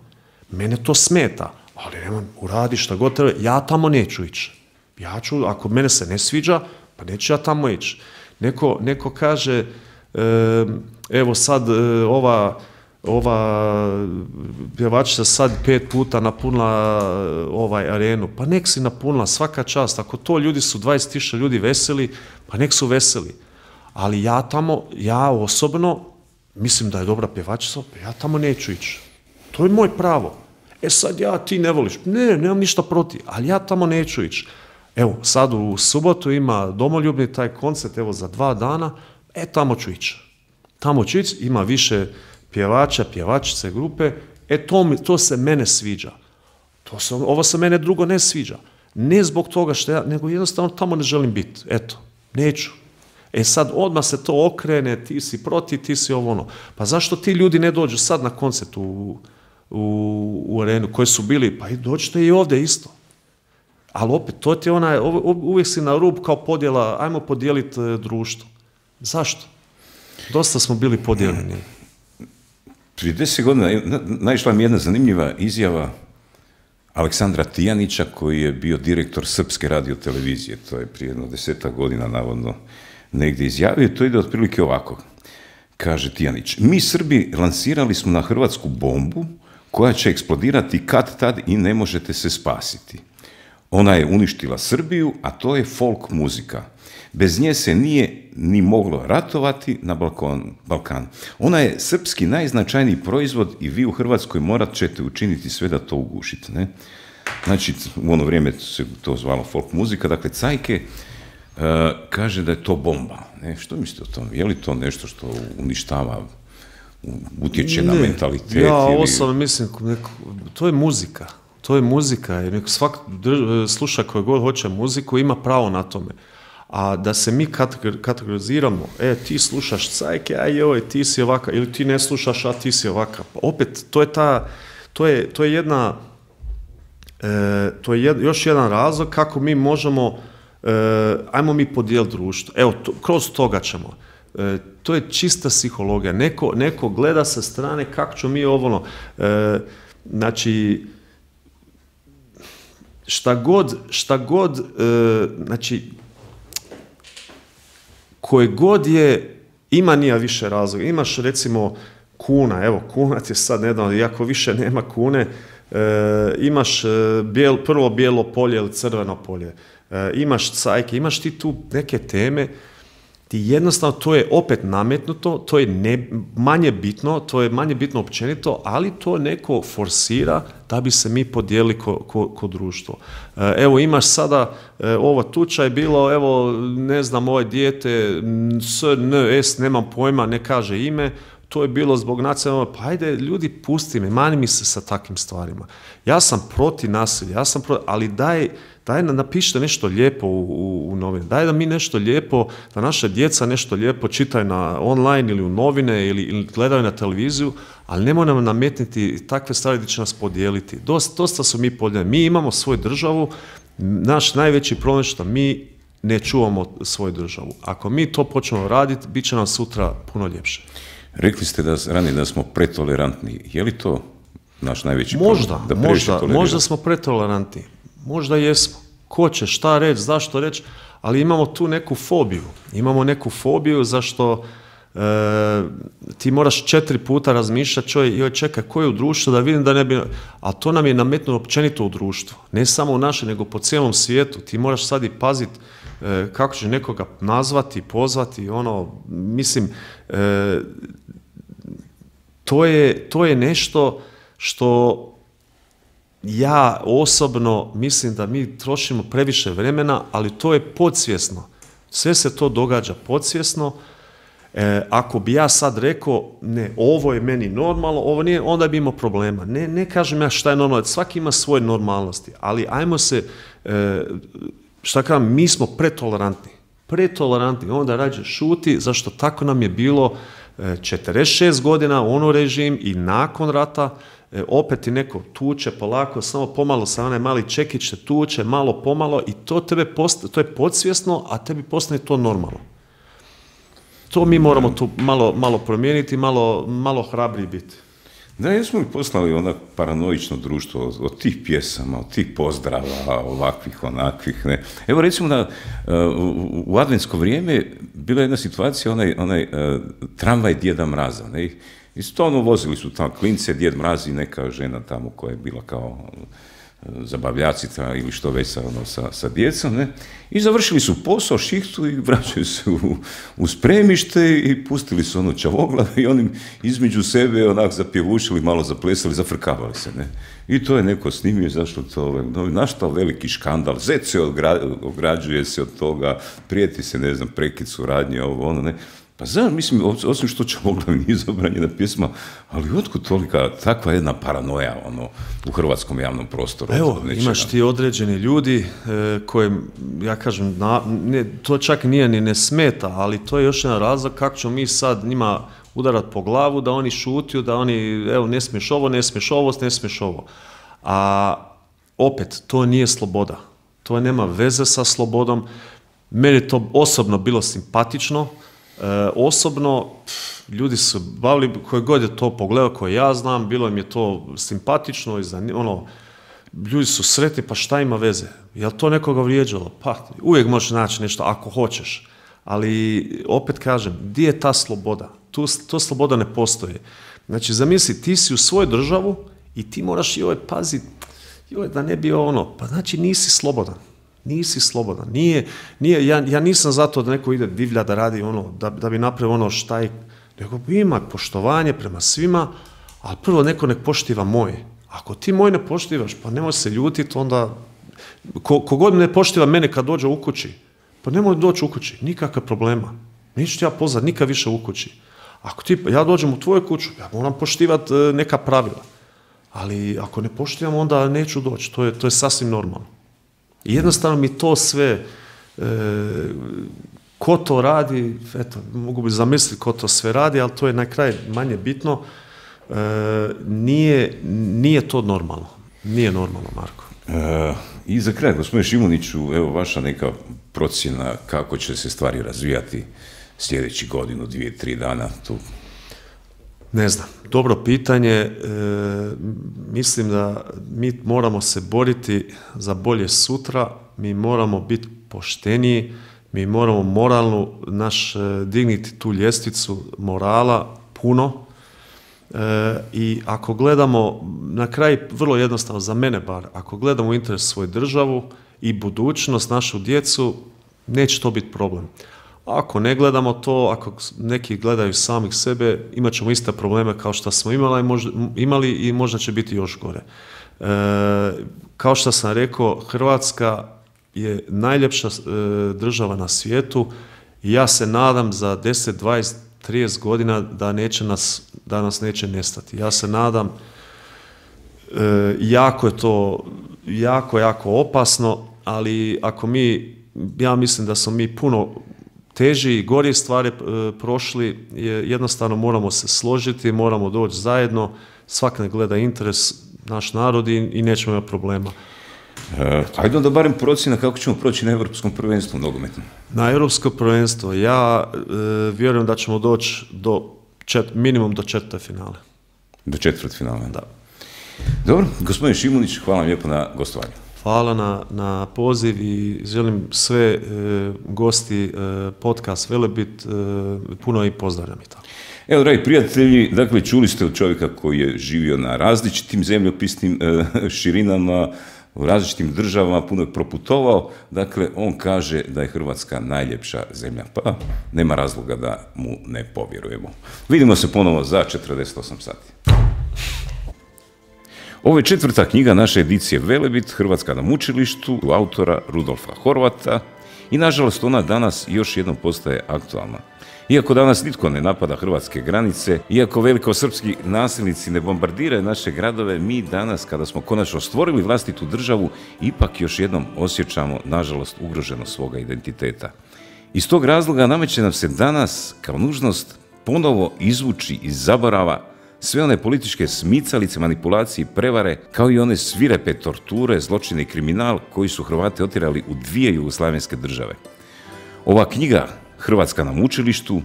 Mene to smeta, ali nemam, uradi šta god treba, ja tamo neću ići. Ja ću, ako mene se ne sviđa, pa neću ja tamo ići. Neko, neko kaže, e, evo sad e, ova, ova pjevačica sad pet puta napunila ovaj arenu, pa nek si napunila, svaka čast, ako to ljudi su dvadeset tisuća ljudi veseli, pa nek su veseli, ali ja tamo, ja osobno mislim da je dobra pjevačica, pa ja tamo neću ići, to je moj pravo. E sad ja, ti ne voliš, ne, nemam ništa protiv, ali ja tamo neću ići. Evo, sad u subotu ima domoljubni taj koncert, evo za dva dana, e tamo ću ići, tamo ću ići, ima više pjevača, pjevačice, grupe, e to, mi, to se mene sviđa. To se, ovo se mene drugo ne sviđa. Ne zbog toga što ja, nego jednostavno tamo ne želim biti. Eto, neću. E sad odmah se to okrene, ti si protiv, ti si ovo ono. Pa zašto ti ljudi ne dođu sad na koncert u, u, u arenu koji su bili, pa i dođite i ovdje isto. Ali opet, to ti je onaj, uvijek si na rub kao podjela, ajmo podijeliti društvo. Zašto? Dosta smo bili podijeljeni. Prije deset godina naišla mi jedna zanimljiva izjava Aleksandra Tijanića, koji je bio direktor Srpske radiotelevizije. To je prije jedno desetak godina navodno negdje izjavio. To ide otprilike ovako. Kaže Tijanić, mi Srbi lansirali smo na Hrvatsku bombu koja će eksplodirati kad tad i ne možete se spasiti. Ona je uništila Srbiju, a to je folk muzika. Bez nje se nije ni moglo ratovati na Balkanu. Ona je srpski najznačajniji proizvod i vi u Hrvatskoj morat ćete učiniti sve da to ugušite. Ne? Znači, u ono vrijeme se to zvalo folk muzika, dakle, Cajke uh, kaže da je to bomba. Ne? Što mislite o tom? Je li to nešto što uništava, utječe ne, na mentalitet? Ja osobno ili... mislim, neko, to je muzika. To je muzika. Neko svak drž, sluša koji god hoće muziku, ima pravo na tome. A da se mi kategoriziramo, e, ti slušaš Cajke, a joj, ti si ovakav, ili ti ne slušaš, a ti si ovakav. Opet, to je ta, to je, to je jedna, e, to je jed, još jedan razlog kako mi možemo, e, ajmo mi podijeliti društvo. Evo, to, kroz toga ćemo. E, to je čista psihologija. Neko, neko gleda sa strane kako ćemo mi ovo, e, znači, šta god, šta god, e, znači, koje god je, ima nije više razloga. Imaš recimo kuna, evo kuna ti je sad nedavno, iako više nema kune, e, imaš bijel, prvo bijelo polje ili crveno polje, e, imaš Cajke, imaš ti tu neke teme ti jednostavno, to je opet nametnuto, to je ne, manje bitno, to je manje bitno općenito, ali to neko forsira da bi se mi podijelili ko, ko, ko društvo. Evo imaš sada, ovo tuča je bilo, evo ne znam, ovo dijete, S, N, S, nemam pojma, ne kaže ime, to je bilo zbog nacionalnog, pa ajde ljudi pusti me, mani mi se sa takvim stvarima. Ja sam protiv nasilja, ja sam protiv, ali daj, daj napišite nešto lijepo u, u, u novine, daj da mi nešto lijepo, da naša djeca nešto lijepo čitaju na online ili u novine ili, ili gledaju na televiziju, ali nemoj nam nametniti takve stvari gdje će nas podijeliti. Dosta, dosta su mi podijeljeni. Mi imamo svoju državu, naš najveći problem je što mi ne čuvamo svoju državu. Ako mi to počnemo raditi, bit će nam sutra puno ljepše. Rekli ste da ranije da smo pretolerantni. Je li to naš najveći možda, problem? Da možda, možda smo pretolerantni. Možda jesmo. Ko će, šta reći, zašto reći, ali imamo tu neku fobiju. Imamo neku fobiju zašto e, ti moraš četiri puta razmišljati, čovjek, joj čekaj, ko je u društvu, da vidim da ne bi... A to nam je nametnuto općenito u društvu. Ne samo u naše, nego po cijelom svijetu. Ti moraš sad i paziti e, kako će nekoga nazvati, pozvati, ono, mislim, e, to je, to je nešto što ja osobno mislim da mi trošimo previše vremena, ali to je podsvjesno. Sve se to događa podsvjesno. E, ako bi ja sad rekao, ne, ovo je meni normalno, ovo nije, onda bi imao problema. Ne, ne kažem ja šta je normalno, svaki ima svoje normalnosti, ali ajmo se, e, šta kažem, mi smo pretolerantni. Pretolerantni, onda rađe šuti, zašto tako nam je bilo e, četrdeset šest godina u ono režim i nakon rata, e, opet ti neko tuče polako, samo pomalo sa onaj mali čekić te tuče, malo pomalo i to tebe post, to je podsvjesno, a tebi postane to normalno. To mi moramo tu malo, malo promijeniti, malo, malo hrabriji biti. Da, jesmo li poslali onak paranoično društvo od, od tih pjesama, od tih pozdrava, ovakvih, onakvih, ne. Evo recimo da uh, u, u adventsko vrijeme bila jedna situacija, onaj, onaj uh, tramvaj Djeda Mraza, ne. I stvarno vozili su tamo klince, Djed Mraz i neka žena tamo koja je bila kao zabavljacica ili što već sa, ono, sa, sa djecom, ne? I završili su posao, šihtu i vraćaju se u, u spremište i pustili su ono čavoglave i onim između sebe onak zapjevušili, malo zaplesali, zafrkavali se, ne? I to je neko snimio, zašto to, no, naštao veliki škandal, zet se odgra, ograđuje se od toga, prijeti se, ne znam, prekid suradnje, ovo, ono, ne? Pa znam, mislim, osim što Čavoglav nije zabranjena pjesma, ali otkud tolika, takva jedna paranoja, ono, u hrvatskom javnom prostoru? Evo, imaš ti određeni ljudi e, koje, ja kažem, na, ne, to čak nije ni ne smeta, ali to je još jedan razlog kako ćemo mi sad njima udarat po glavu, da oni šutiju, da oni, evo, ne smiješ ovo, ne smiješ ovo, ne smiješ ovo. A opet, to nije sloboda. To nema veze sa slobodom. Meni je to osobno bilo simpatično. E, osobno, pff, ljudi su bavili, koji god je to pogledao, koje ja znam, bilo im je to simpatično i zanim, ono, ljudi su sretni, pa šta ima veze? Je li to nekoga vrijeđalo? Pa, uvijek možeš naći nešto ako hoćeš, ali opet kažem, gdje je ta sloboda? Tu, to sloboda ne postoji. Znači, zamisli, ti si u svojoj državu i ti moraš joj paziti, joj, da ne bi ono, pa znači nisi slobodan. Nisi slobodan. Nije, nije, ja, ja nisam zato da neko ide divlja da radi ono, da, da bi napravio ono šta je, nego ima poštovanje prema svima, ali prvo neko nek poštiva moje. Ako ti moj ne poštivaš, pa nemoj se ljutiti, onda, ko, kogod ne poštiva mene kad dođe u kući, pa nemoj doći u kući, nikakve problema. Neću ti ja pozvati nikad više u kući. Ako ti, ja dođem u tvoju kuću, ja moram poštivati neka pravila. Ali ako ne poštivam, onda neću doći. To je, to je sasvim normalno. I jednostavno mi to sve, e, ko to radi, eto, mogu bi zamisliti ko to sve radi, ali to je na kraju manje bitno, e, nije, nije to normalno. Nije normalno, Marko. E, I za kraj, gospodine Šimuniću, evo vaša neka procjena kako će se stvari razvijati sljedeći godinu, dvije, tri dana tu. Ne znam, dobro pitanje, e, mislim da mi moramo se boriti za bolje sutra, mi moramo biti pošteniji, mi moramo moralnu, naš, digniti tu ljestvicu morala puno e, i ako gledamo, na kraj vrlo jednostavno, za mene bar, ako gledamo u interes svoju državu i budućnost, našu djecu, neće to biti problem. Ako ne gledamo to, ako neki gledaju samih sebe, imat ćemo iste probleme kao što smo imali, možda, imali i možda će biti još gore. E, kao što sam rekao, Hrvatska je najljepša e, država na svijetu i ja se nadam za deset, dvadeset, trideset godina da, neće nas, da nas neće nestati. Ja se nadam, e, jako je to, jako, jako opasno, ali ako mi, ja mislim da smo mi puno teži i gori stvari e, prošli, je, jednostavno moramo se složiti, moramo doći zajedno, svak ne gleda interes naš narod i, i nećemo imati problema. E, ajde onda barem procjena kako ćemo proći na Europskom prvenstvu nogometnom. Na Europsko prvenstvo ja e, vjerujem da ćemo doći do čet, minimum do četvrte finale. Do četvrt finale? Da. Dobro, gospodin Šimunić, hvala vam lijepo na gostovanju. Hvala na, na poziv i želim sve e, gosti e, podcast Velebit, e, puno i pozdravljam i tako. Evo, dragi prijatelji, dakle, čuli ste od čovjeka koji je živio na različitim zemljopisnim e, širinama, u različitim državama, puno je proputovao, dakle, on kaže da je Hrvatska najljepša zemlja, pa nema razloga da mu ne povjerujemo. Vidimo se ponovo za četrdeset osam sati. Ovo je četvrta knjiga naše edicije Velebit, Hrvatska na mučilištu, autora Rudolfa Horvata i nažalost ona danas još jednom postaje aktualna. Iako danas nitko ne napada hrvatske granice, iako velikosrpski nasilnici ne bombardiraju naše gradove, mi danas, kada smo konačno stvorili vlastitu državu, ipak još jednom osjećamo, nažalost, ugroženost svoga identiteta. Iz tog razloga nameće nam se danas, kao nužnost, ponovo izvući iz zaborava sve one političke smicalice, manipulacije i prevare, kao i one svirepe torture, zločine i kriminal koji su Hrvate otjerali u dvije jugoslavenske države. Ova knjiga, Hrvatska na mučilištu,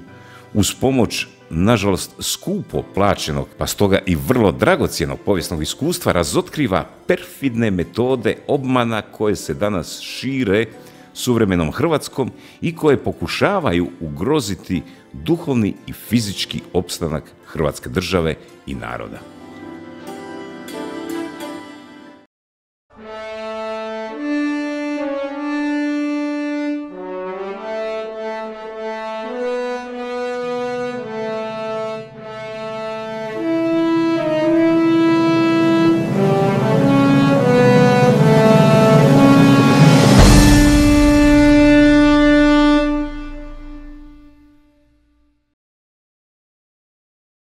uz pomoć, nažalost, skupo plaćenog, pa stoga i vrlo dragocjenog povijesnog iskustva, razotkriva perfidne metode obmana koje se danas šire suvremenom Hrvatskom i koje pokušavaju ugroziti duhovni i fizički opstanak Hrvatske države i naroda.